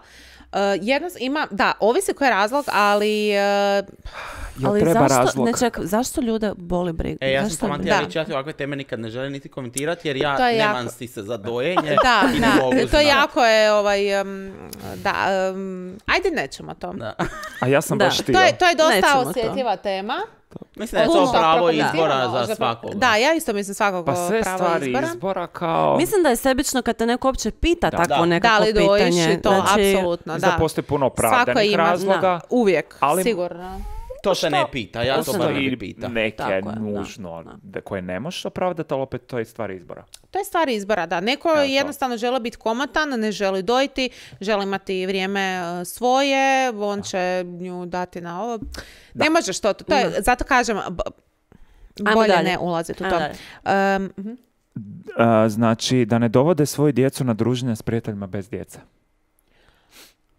E, jedno, ima, da, ovisi koji je razlog, ali e, Jel Ali treba zašto, razlog? ne ček, zašto ljude boli briga? E, ja sam Zašto samo bi- htjela Da. reći, ja ti ovakve teme nikad ne želim niti komentirati, jer ja To je nemam jako- si se za dojenje da, i ne da, mogu to znati. jako je, ovaj, em, da, em, ajde nećemo to. Da. A ja sam Da. baš htio. To je, to je dosta Nećemo to. osjetljiva tema. Mislim da je to Puno pravo prokomentirano, izbora za za- svakoga. Da, ja isto mislim svakog Pa sve pravo stvari izbora. izbora kao... Mislim da je sebično kad te neko uopće pita Da. takvo Da. nekako Da li dojiš pitanje. i to, Znači, apsolutno, Mislim da da. postoji puno Svako opravdanih ima, razloga. da, uvijek, ali- sigurno. To se ne pita, ja to Postoji bar ne Postoji bi pita. neke Tako je, da, nužno da. da, koje ne možeš opravdati, ali opet to je stvar izbora. To je stvar izbora, da. Neko Evo to. jednostavno želi biti komotan, ne želi dojiti, želi imati vrijeme e, svoje, on će nju dati na ovo. Ne možeš to, to je, zato kažem, b- Ajmo bolje dalje. ne ulaziti u Ajmo to. dalje. Um, mhm. A, znači, da ne dovode svoju djecu na druženje s prijateljima bez djece.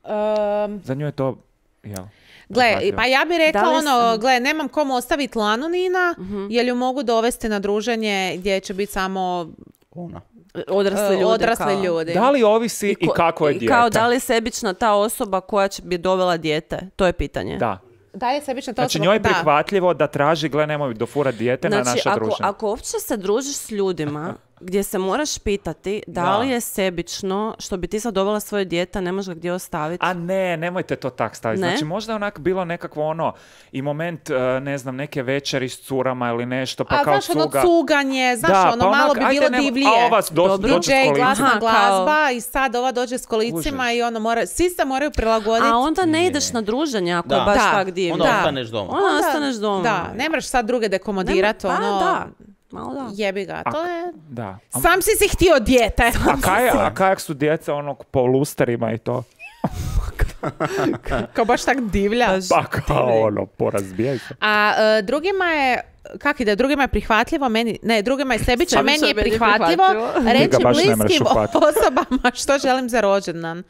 Um, Za nju je to, jel? Gle, prihvatljivo. pa ja bih rekla Da li ono, s- gle, nemam komu ostaviti Lanu Nina, jer ju mogu dovesti na druženje gdje će biti samo Ona. Odrasli e, ljudi. odrasli kao. ljudi. Da li ovisi i, ko- kako je i dijete? Kao da li je sebična ta osoba koja će bi dovela dijete? To je pitanje. Da. Da je sebična to Znači, osoba- njoj je da. prihvatljivo da traži, gle, nemoj dofurat dijete na Znači, naša ako, druženja. ako uopće se družiš s ljudima gdje se moraš pitati da, Da. li je sebično što bi ti sad dovela svoje dijete, ne možeš ga gdje ostaviti. A ne, nemojte to tak staviti. Ne? Znači, možda je onak bilo nekakvo ono, i moment, e, ne znam, neke večeri s curama ili nešto, pa A kao znaš, ono cuga. cuganje, znaš, Da, ono pa malo onak, bi ajde, bilo nemo- divlije. A ova do, Dobro. dođe s D J, kolicima. glasna Aha, kao- glazba i sad ova dođe s kolicima Užas. i ono mora, svi se moraju prilagoditi. A onda ne ideš na druženje ako Da. je baš Da. tak divno. Onda Da. ostaneš doma. Onda ostaneš doma. Da, ne moraš sad druge dekomodirati, Nema- pa ono, da, malo da. jebi ga, to je... Da. A, Sam si si htio dijete. a, kaj, a kajak su djeca ono po lusterima i to? Kao baš tak divlja. Pa kao ono, porazbijaj se. A e, drugima je, kak ide, drugima je prihvatljivo, meni, ne, drugima je sebično, Sebično meni je meni je prihvatljivo prihvatljivo. reći Njega baš ne možeš bliskim uhvatiti. osobama što želim za rođendan.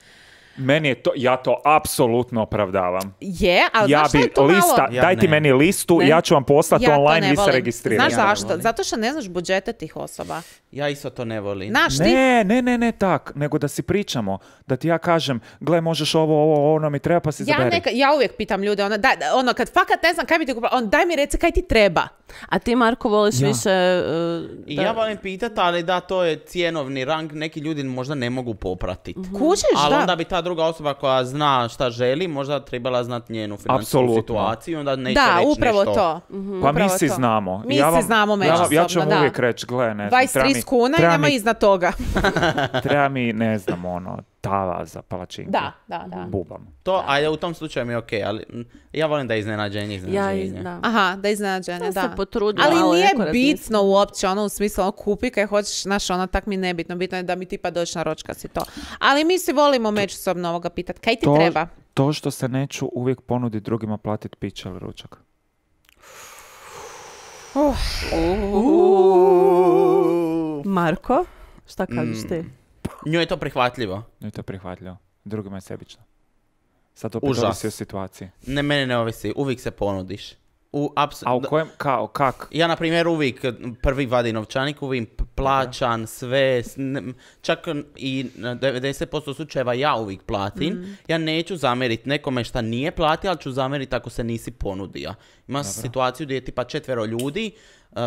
Meni je to, ja to apsolutno opravdavam. Je, ali Ja znaš što bi je to lista, malo... Ja daj ti ne. meni listu, Ne. ja ću vam poslati Ja to online, ne vi se volim. registrirajte. Znaš Ja ne zašto? volim. Zato što ne znaš budžete tih osoba. Ja isto to ne volim. Znaš ti? Ne, ne, ne, ne tak, nego da si pričamo, da ti ja kažem, gle, možeš ovo, ovo, ono mi treba, pa si Ja, zaberi. neka, ja uvijek pitam ljude, ono, daj, ono, kad fakat ne znam kaj bi ti kupila, on, daj mi reci kaj ti treba. A ti, Marko, voliš Ja. više... uh, I da- ja volim pitati, ali da, to je cjenovni rang, neki ljudi možda ne mogu popratiti. Kužiš, Ali da. onda bi ta druga osoba koja zna šta želi, možda trebala znati njenu financijsku Apsolutno. situaciju, onda neće Da, reći upravo nešto. to. Pa mi Upravo si to. znamo. Mi ja si vam, znamo ja, vam- ja ću međusobno, vam da. uvijek reći, gle, ne znam, dvadeset treba mi, trideset kuna i treba nema mi, iznad toga. treba mi, ne znam, ono, tava za palačinke. Da, da, da. Bubam. To, ajde, u tom slučaju mi je okej, ali mm, ja volim da je iznenađenje, Ja, iznenađenje. iz- da. Aha, da iznenađenje, Ja da. se potrudim, Ali malo nije neko razmislim. bitno uopće, ono u smislu, ono kupi kaj hoćeš, znaš, ono tak mi nebitno, bitno je da mi tipa doći na ročka si to. Ali mi se volimo međusobno ovoga pitat, kaj ti To, treba? to što se neću uvijek ponuditi drugima platiti piće ili ručak. Marko, šta kažeš ti? Njoj je to prihvatljivo. No i to je prihvatljivo. Drugima je sebično. Sad opet Užas. ovisi o situaciji. Ne, mene ne ovisi, uvijek se ponudiš. U, apsu- A u kojem, kao, kak? Ja, na primjer, uvijek prvi vadi novčanik, uvijek p- plaćan, sve, s- ne- čak i na devedeset posto slučajeva ja uvijek platim. Ja neću zamjeriti nekome šta nije platio, ali ću zamjeriti ako se nisi ponudio. Ima situaciju gdje je tipa četvero ljudi, uh,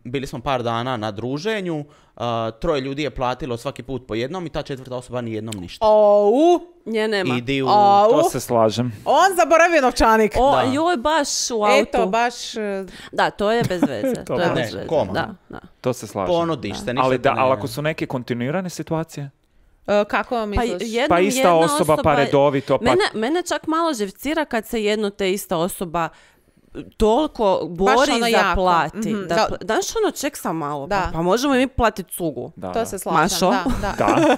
bili smo par dana na druženju, uh, troje ljudi je platilo svaki put po jednom i ta četvrta osoba ni jednom ništa. Ou, Nje nema. Idi u... au, To se slažem. on zaboravio novčanik. O, Da. joj, baš u autu. Eto, baš... e, Da, to je bez veze. to je Ne, bez veze. koma. Da, da. To se slažem. Ponudiš se, ništa Ali, te da, ne- ali ako su neke kontinuirane situacije, e, kako Pa, misliš? jednom pa ista jedna osoba, pa redovito, pa... Mene, mene čak malo živcira kad se jedno te ista osoba toliko bori ono za jako. plati. Mhm, Da, da. pl- Daš ono, ček sam malo. Da. Pa, pa možemo i mi platiti cugu. Da, To da. se slažem, Mašo? da, da. Da,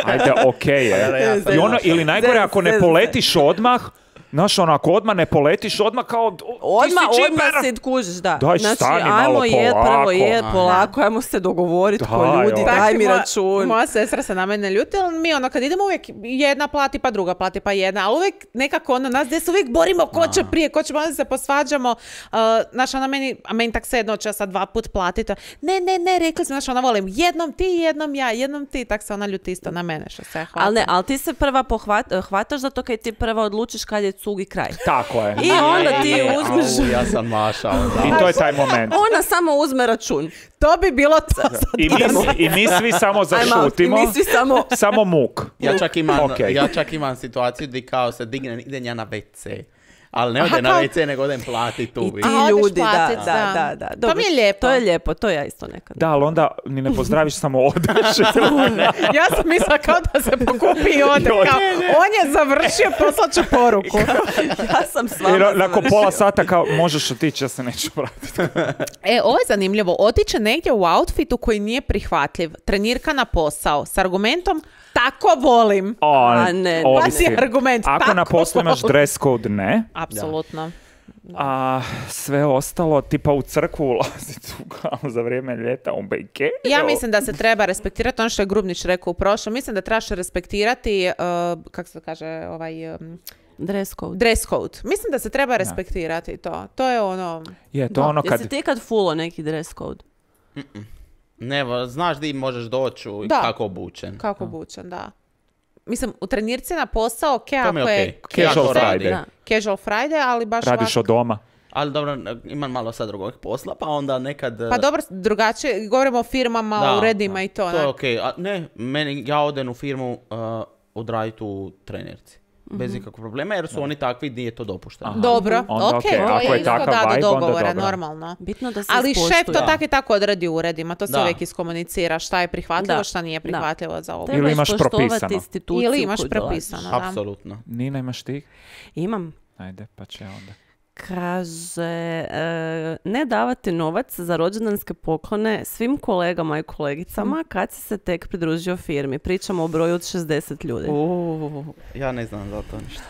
ajde, okej Pa, ja je. sam I ono, Maša. ili najgore, Zez, ako ne zez, poletiš odmah, znaš, ono, ako odmah ne poletiš, odmah kao, o, ti Odmah, si odmah čimber. si kužiš, da. Daj, znači, stani ajmo malo jed, prvo polako. jed, Aha. polako, ajmo se dogovoriti ko Daj, ljudi, ono. daj mi moja- račun. Moja sestra se na mene ljuti, ali mi ono kad idemo uvijek jedna plati pa druga plati pa jedna, ali uvijek nekako ono nas gdje se uvijek borimo ko će prije, ko će onda se posvađamo. Uh, znaš, ona meni, a meni tak se jedno će sad dva put platiti. Ne, ne, ne, rekli smo, znaš, ona volim jednom ti, jednom ja, jednom ti, tak se ona ljuti isto na mene što se hvata. Ali ne, ali ti se prva pohvat, hvataš zato kad ti prva odlučiš kad je cug i kraj. Tako je. I onda ti Je, uzmeš... au, ja sam Maša, onda. I to je taj moment. Ona samo uzme račun. To bi bilo to. I mi, I mi svi samo Ajmo, i zašutimo. mi svi samo... Samo muk. Ja čak imam, Okej. ja čak imam situaciju gdje kao se digne, idem ja na ve ce. Ali ne Aha, ode na kao- ve ce, nego odem plati tu. I ti Aha, odeš ljudi, da, platit, da, da. da, da. To Dobro, mi je lijepo. To je lijepo, to ja isto nekad. Da, ali onda ni ne pozdraviš, samo odeš. Ja sam mislila kao da se pokupi i ode. I ode. Kao, on je završio, poslat ću poruku. Ja sam s vama Jer nakon završila. pola sata kao, možeš otići, ja se neću vratiti. E, ovo je zanimljivo. Otiće negdje u outfitu koji nije prihvatljiv. Trenirka na posao s argumentom tako volim. O, A, ne, Pa ovisi. ti argument. Ako na tako poslu imaš volim. dress code, ne. Apsolutno. A sve ostalo, tipa u crkvu ulaziti u- za vrijeme ljeta u bejke. Ja mislim da se treba respektirati ono što je Grubnić rekao u prošlom. Mislim da trebaš respektirati, uh, kako se kaže, ovaj um, Dress code. dress code. Mislim da se treba respektirati to. To je ono... Je, to ono kad... Jesi ti kad fulo neki dress code? Ne, va, znaš di možeš doći i Da. kako obučen. Kako obučen, da. Mislim, u trenirci na posao, ok, To mi ako je je okej. Casual Ja to Friday. radim. Da. casual Friday, ali baš Radiš ovako- od doma. Ali dobro, imam malo sad drugog posla, pa onda nekad... Pa dobro, drugačije, govorimo o firmama, Da, uredima da, i to. To je onak. okej. A ne, meni, ja odem u firmu uh, odraditi u trenerci. Bez ikakvog problema, jer su oni takvi gdje je to dopušteno. Aha. Dobro, Onda ok, okej, to ako je je isto takav da do vibe, onda dogovora, dobro. normalno. Bitno da se Ali šef ispoštuje. to tako i tako odradi u uredima, to se Da. uvijek iskomunicira šta je prihvatljivo, Da. šta nije Da. prihvatljivo za ovo. Trebaš Ili imaš poštovati propisano. instituciju Ili imaš koju dolaziš. propisano, da. Apsolutno. Nina, imaš ti? Imam. Ajde, pa će onda. Kaže, e, ne davati novac za rođendanske poklone svim kolegama i kolegicama kad si se tek pridružio firmi. Pričamo o broju od šezdeset ljudi. Uh, ja ne znam za to ništa.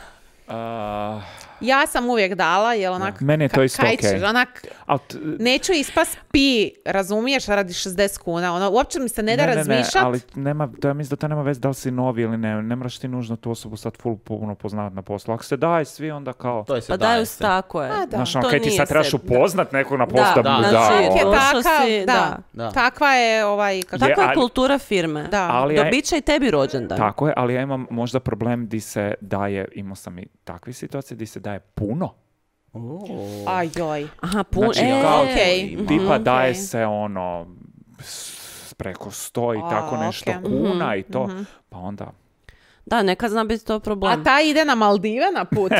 A, Ja sam uvijek dala, jer onak... Meni je to ka- isto kaj okej. ćeš, onak, al t- neću ispas pi, razumiješ, radi šezdeset kuna. Ono, uopće mi se ne da ne, ne, razmišljat. ali nema, to ja mislim da to nema veze da li si novi ili ne. Ne moraš ti nužno tu osobu sad full puno poznavati na poslu. Ako se daj svi, onda kao... To je se Pa daje daju se. tako je. A, da. Znaš, ono, To kaj ti nije sad trebaš se- upoznat nekog na poslu Da, da, mu da, da, znači, Čovjek je ono. došao takav, si, da. da. Da. Takva je ovaj... Kako... Je, Takva je ali- kultura firme. Da. Ali ja- Dobit će i tebi rođendan. Tako je, ali ja imam možda problem di se daje, imao sam i takve situacije, di se daje puno. Uh. Ajoj. Aha, pun... Znači, e, kao- Okej. Mhm. Tipa Ok. daje se ono s- preko sto i A, tako nešto ok. kuna i to. Mhm. Pa onda, Da, nekad zna biti to problem. A ta ide na Maldive na put.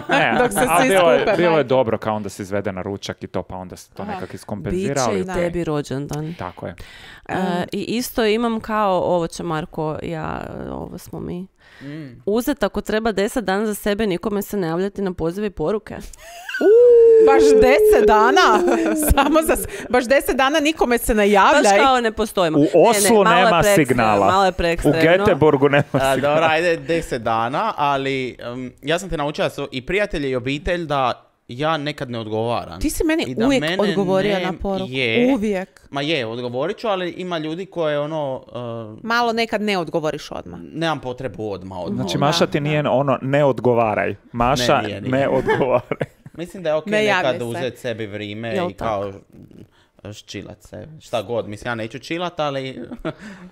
Ne, Dok se a svi bilo, je, skupe, bilo je majke. dobro kao onda se izvede na ručak i to, pa onda se to Aha. nekak iskompenzira. Biće i ali- tebi rođendan. Tako je. E, I isto imam kao, ovo će Marko, ja, ovo smo mi. Mm. Uzet ako treba deset dana za sebe, nikome se ne javljati na pozive i poruke. Baš deset dana. Samo za, s- baš deset dana nikome se ne javlja. Baš kao ne postojimo. U Ne, ne, Oslu malo je nema preekstremno, signala. Malo je U preekstremno. Göteborgu nema A, signala. dobro, ajde deset dana, ali um, ja sam te naučila da su i prijatelji i obitelj da ja nekad ne odgovaram. Ti si meni I da uvijek mene odgovorio ne- na poruku. Je, Uvijek. ma je, odgovorit ću, ali ima ljudi koje ono, uh, Malo nekad ne odgovoriš odmah. nemam potrebu odmah, odmah. Znači, odmah. Maša ti nije ono, ne odgovaraj. Maša, Ne, ne, nije, nije. odgovaraj. Mislim da je ok Ne javljaj nekad se. uzeti sebi vrijeme Jel i kao ščilat se. Šta god, mislim, ja neću čilat, ali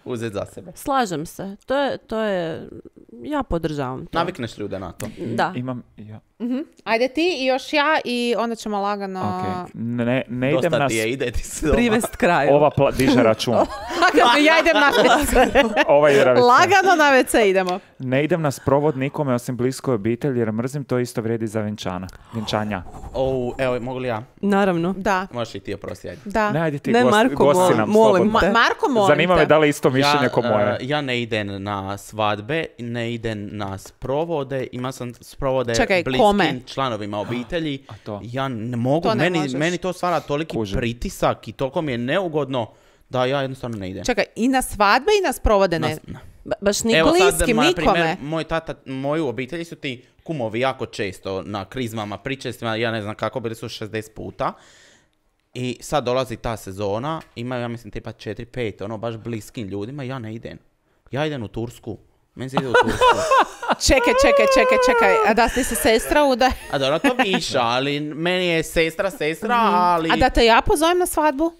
uzeti za sebe. Slažem se. To je, to je, ja podržavam to. Navikneš ljude na to. Da. Imam, ja. Mhm. Ajde ti i još ja i onda ćemo lagano... ok. Ne, ne idem Dosta na... ti je, ide ti se doma. Privest kraju. Ova pla- diže račun. Lagano, ja idem na ve ce. Ova ide na ve ce. Lagano na ve ce idemo. Ne idem na sprovod nikome osim bliskoj obitelji jer mrzim, to isto vrijedi za vjenčana. Vjenčanja. O, evo, mogu li ja? Naravno. Da, Možeš i ti oprosti, ajde. da. Ne, ajde ti Ne, gost, Marko, gosti molim- nam molim slobodno. Ma- te. Marko, molim Zanima te. me da li isto mišljenje ko moje. uh, ja ne idem na svadbe, ne idem na sprovode, ima sam sprovode Čekaj, bliskim kome? članovima obitelji. A to? Ja ne mogu, To ne meni, možeš. meni to stvara toliki Kužim. pritisak i toliko mi je neugodno da ja jednostavno ne idem. Čekaj, i na svadbe i na sprovode ne. Na- Ba- baš ni Evo sad, bliskim, ma, na nikome. primjer, moj tata, moju obitelji su ti kumovi jako često na krizmama, pričestvima, ja ne znam kako, bili su šezdeset puta. I sad dolazi ta sezona, imaju, ja mislim, tipa četiri pet, ono, baš bliskim ljudima, ja ne idem. Ja idem u Tursku. Meni se ide u Tursku. Čekaj, čekaj, čekaj, čekaj. A da ti se sestra uda... A dobro, to više, ali meni je sestra, sestra, ali... A da te ja pozovem na svadbu?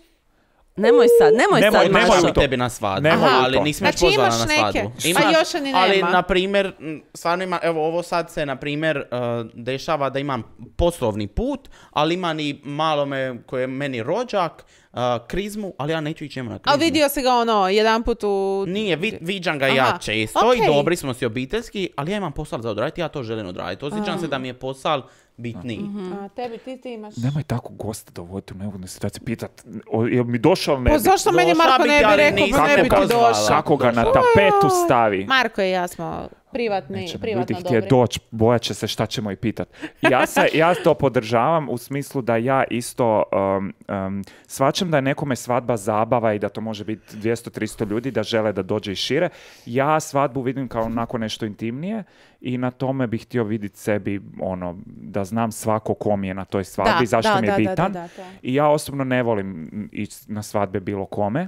Nemoj sad, nemoj, Nemoj, sad, nemoj Mašo. Nemoj tebi na svadbu, Nemoj ali to. nisam još Znači pozvana imaš na neke, svadbu. a još ni ali, nema. na primjer, m, stvarno ima, evo ovo sad se, na primjer, uh, dešava da imam poslovni put, ali imam i malo me, koji je meni rođak, uh, krizmu, ali ja neću ići njemu na krizmu. A vidio si ga ono, jedan put u... Nije, vi, viđam ga Aha, ja često okej. i dobri smo si obiteljski, ali ja imam posao za odraditi, ja to želim odraditi. Osjećam se da mi je posao bitniji. A tebi, ti, ti imaš... Nemoj tako gosta dovoditi u neugodnu situaciju, pitat, o, jel mi došao ili ne Pa bi? zašto meni Došla Marko bi ne ti, bi ali rekao, nisam pa ne bi te ti pozvala. došao? Kako ga na Došao. tapetu stavi? Marko i ja smo privatni, Neće me privatno ljudi dobri. htje doći, bojat će se šta ćemo i pitat. Ja, se, ja to podržavam u smislu da ja isto um, um, shvaćam da je nekome svadba zabava i da to može biti dvjesto do tristo ljudi, da žele da dođe i šire. Ja svadbu vidim kao onako nešto intimnije i na tome bih htio vidjeti sebi ono, da znam svako ko mi je na toj svadbi, Da, zašto da, mi je da, da, bitan. da, da, to. I ja osobno ne volim ići na svadbe bilo kome.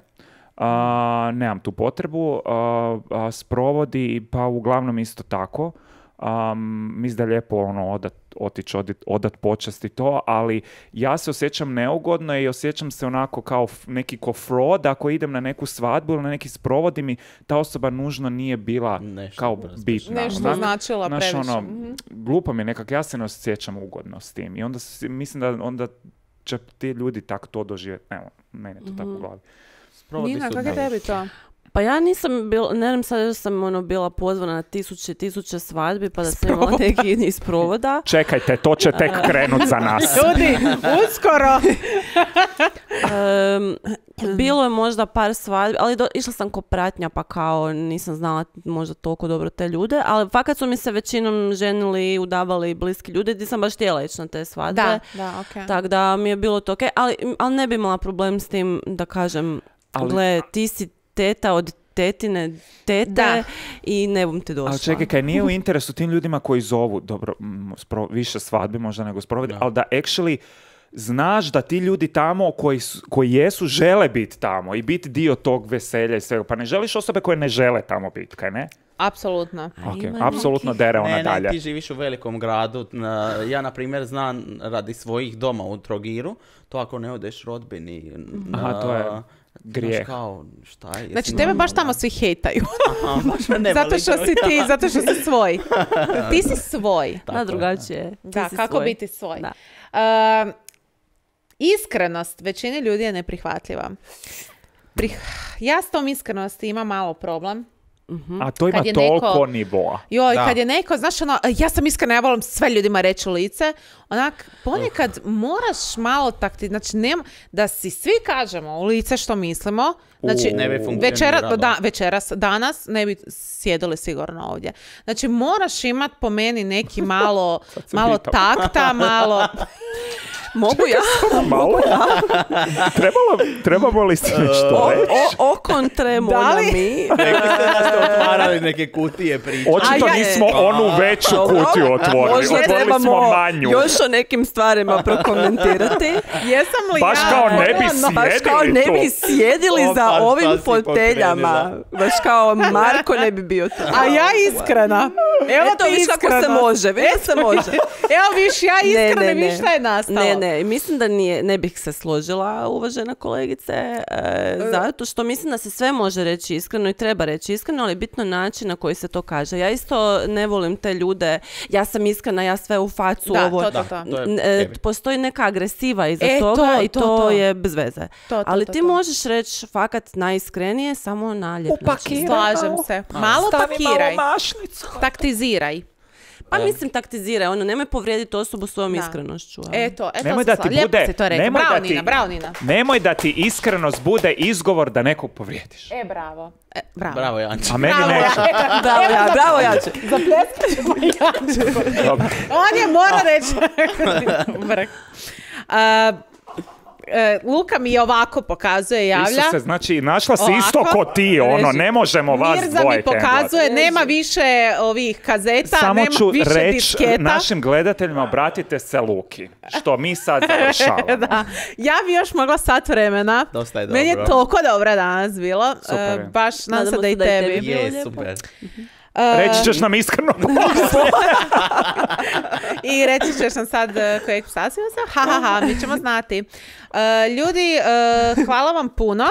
A, nemam tu potrebu. A, a, sprovodi, pa uglavnom isto tako. Um, mislim da je lijepo ono, odat, otići, odat, odat počast i to, ali ja se osjećam neugodno i osjećam se onako kao f- neki ko fraud ako idem na neku svadbu ili na neki sprovod i mi ta osoba nužno nije bila Nešto kao brzo. bitna. Nešto Zna- značila znaš, previše. ono, Mhm. glupo mi je nekak, ja se ne osjećam ugodno s tim i onda si- mislim da onda će ti ljudi tako to doživjeti. Evo, meni je to tako u glavi. Sprovodi Nina, su kako je da. tebi to? Pa ja nisam bila, ne znam sad još sam ono bila pozvana na tisuće i tisuće svadbi pa da sam imala neki iz provoda. Čekajte, to će tek krenut za nas. Ljudi, uskoro! Em, bilo je možda par svadbi, ali do, išla sam ko pratnja pa kao nisam znala možda toliko dobro te ljude, ali fakat su mi se većinom ženili, udavali bliski ljudi gdje sam baš htjela ići na te svadbe. Da, da, okej. Tako da mi je bilo to okej, ali, ali ne bi imala problem s tim da kažem, Ali- gle, ti si teta od tetine tete Da. i ne bom ti došla. Ali čekaj, kaj nije u interesu tim ljudima koji zovu, dobro, mm, spro- više svadbi možda nego sprovodi, Da. ali da actually znaš da ti ljudi tamo koji, su- koji jesu žele biti tamo i biti dio tog veselja i svega. Pa ne želiš osobe koje ne žele tamo biti, kaj ne? Apsolutno. Ok, ima apsolutno nekih- dere ona Ne, dalje. ne, ti živiš u velikom gradu. Na- Ja, na primjer, znam radi svojih doma u Trogiru, to ako ne odeš rodbini... Aha, to je na- grijeh. znaš kao, šta je? Znači, jesi tebe baš normalna? tamo svi hejtaju. Aha, baš me ne Zato voli što čovjek. si ti, zato što si svoj. Ti si svoj. Tako Da, je. drugačije. Ti Da, si kako svoj. biti svoj. Da. Um, iskrenost većini ljudi je neprihvatljiva. Prih- ja s tom iskrenosti imam malo problem. A to ima Kad je toliko neko- nivoa. Joj, Da. kad je neko, znaš ono, ja sam iskrena, ja volim sve ljudima reći u lice, onak, ponekad moraš malo takti, znači nema, da si svi kažemo u lice što mislimo, znači Ne bi funkcioniralo. večera, da, večeras, danas ne bi sjedili sigurno ovdje. Znači moraš imat po meni neki malo, se malo pitam. takta, malo... Mogu ja? Malo? Trebalo, trebamo li se nešto O, reći? o, o kontremo Da na li? mi. Rekli ste da ste otvarali neke kutije priče. Očito A ja- nismo onu veću Dobro. kutiju otvorili. Možda Otvorili trebamo smo manju. još o nekim stvarima prokomentirati. Jesam li Baš ja? kao ne bi Ono, Baš kao Sjedili ne tu. bi sjedili Opa, za šta ovim si foteljama. pokrenula. Baš kao Marko ne bi bio tu. A ja iskrena. Evo Eto, ti viš kako se iskrenost. može, viš da se može. Evo viš, ja iskrena, viš šta je nastalo. Ne, ne, mislim da nije, ne bih se složila, uvažena kolegice, e, zato što mislim da se sve može reći iskreno i treba reći iskreno, ali je bitno način na koji se to kaže. Ja isto ne volim te ljude, ja sam iskrena, ja sve u facu, Da, ovo. to, to, Da, to. to je N- e, heavy. postoji neka agresiva iza E, toga to, i to, to, to. je bez veze. To, to, Ali to, ti to. možeš reći fakat najiskrenije samo na lijep način. Upakiraj. Slažem se. Malo pakiraj. mašnicu. Taktiziraj. Pa mislim taktiziraj, ono, nemoj povrijediti osobu svojom Da. iskrenošću. a? Eto, eto Nemoj se da ti sla- lijepo bude- si to rekla. nemoj da Bravo, ti- Nina, bravo, Nina. Nemoj da ti iskrenost bude izgovor da nekog povrijediš. E, bravo. E, bravo. Bravo, Janče. A meni Bravo, neće. ja. Bravo, ja, bravo, Jače. Zapljeskat ćemo Jančevu. Dobro. On je mora reći. Vrh. A, e, Luka mi je ovako pokazuje, javlja. Isuse, znači našla si Ovako. isto ko ti, ono, Reži. ne možemo vas Mirza dvoje mi pokazuje, nema više ovih kazeta, Samo nema ću više reći disketa. našim gledateljima, obratite se Luki, što mi sad završavamo. Da. Ja bi još mogla sat vremena. Dosta je Meni je dobro. toliko dobro danas bilo. Super E, je. baš nadam se Nadamo da i se da i tebi. tebi. Bilo Je, lijepo. super. E, Reći ćeš nam iskreno. I reći ćeš nam sad e, kojeg psa si uzeo? Ha, ha, ha, mi ćemo znati. E, ljudi, e, hvala vam puno.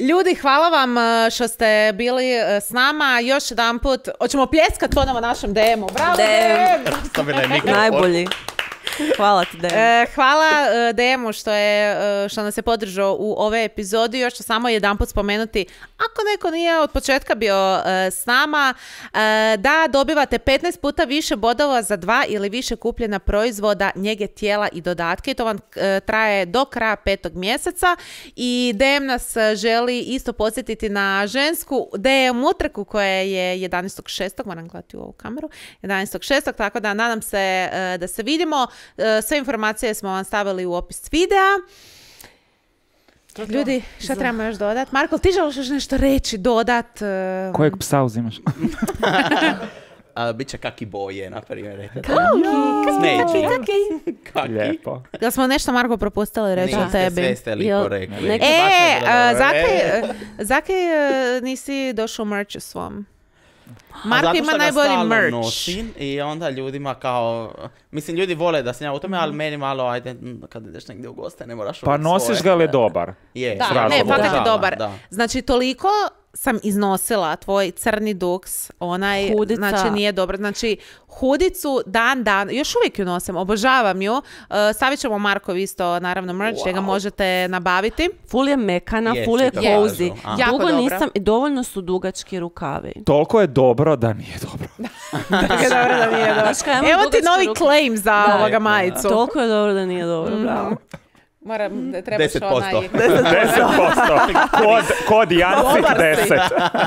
Ljudi, hvala vam e, što ste bili e, s nama. Još jedan put, hoćemo pljeskat ponovo našem D M-u. Bravo, D M. D M! Stavila je mikrofon. Najbolji. Hvala ti, Dejan. E, hvala e, D M-u što, je, e, što nas je podržao u ove epizodi. Još ću samo jedanput spomenuti, ako neko nije od početka bio e, s nama, e, da dobivate petnaest puta više bodova za dva ili više kupljena proizvoda njege tijela i dodatke. I to vam e, traje do kraja petog mjeseca. I D M nas e, želi isto podsjetiti na žensku D M utrku koja je jedanaestog šestog moram gledati u ovu kameru, jedanaestog šestog tako da nadam se e, da se vidimo. E, Sve informacije smo vam stavili u opis videa. Ljudi, šta trebamo još dodat? Marko, ti želiš još nešto reći, dodat? e, Kojeg psa uzimaš? A, Biće kaki boje, na primjer. Kaki, Smeđi. kaki. Kaki. Lijepo. Jel smo nešto, Marko, propustili reći o Niste, tebi? sve ste lipo Jel, rekli. neki- E, Baš je bilo a, dobro. zakaj, E. zakaj e, nisi došao u merchu svom? A Marko zato ima što ga najbolji stalno merch. nosim i onda ljudima kao, mislim ljudi vole da sam ja u tome, ali meni malo, ajde, m, kad ideš negdje u goste, ne moraš Pa uvijek nosiš svoje. ga li je dobar? Je, Da, S razlogom. ne, fakat je Da, dobar. da. Znači, toliko sam iznosila tvoj crni duks, onaj, Hudica. znači nije dobro. Znači, hudicu dan dan, još uvijek ju nosim, obožavam ju. Uh, stavit ćemo Markov isto, naravno, merch, gdje ga možete nabaviti. Ful je mekana, Je, ful je svi to kažu. cozy. A. Jako Dugo dobro. nisam, i dovoljno su dugački rukavi. Toliko je dobro da nije dobro. Tako je dobro da nije dobro. Znaš kaj, ja imam Evo ti dugačke novi ruke. claim za Da. ovoga majicu. Toliko je dobro da nije dobro, bravo. Moram, da trebaš deset posto. onaj... deset posto. Kod, kod Jancik Dobar si. deset.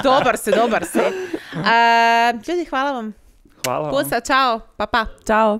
Dobar si, dobar si. Uh, ljudi, hvala vam. Hvala vam. Pusa, čao, pa pa. Ćao.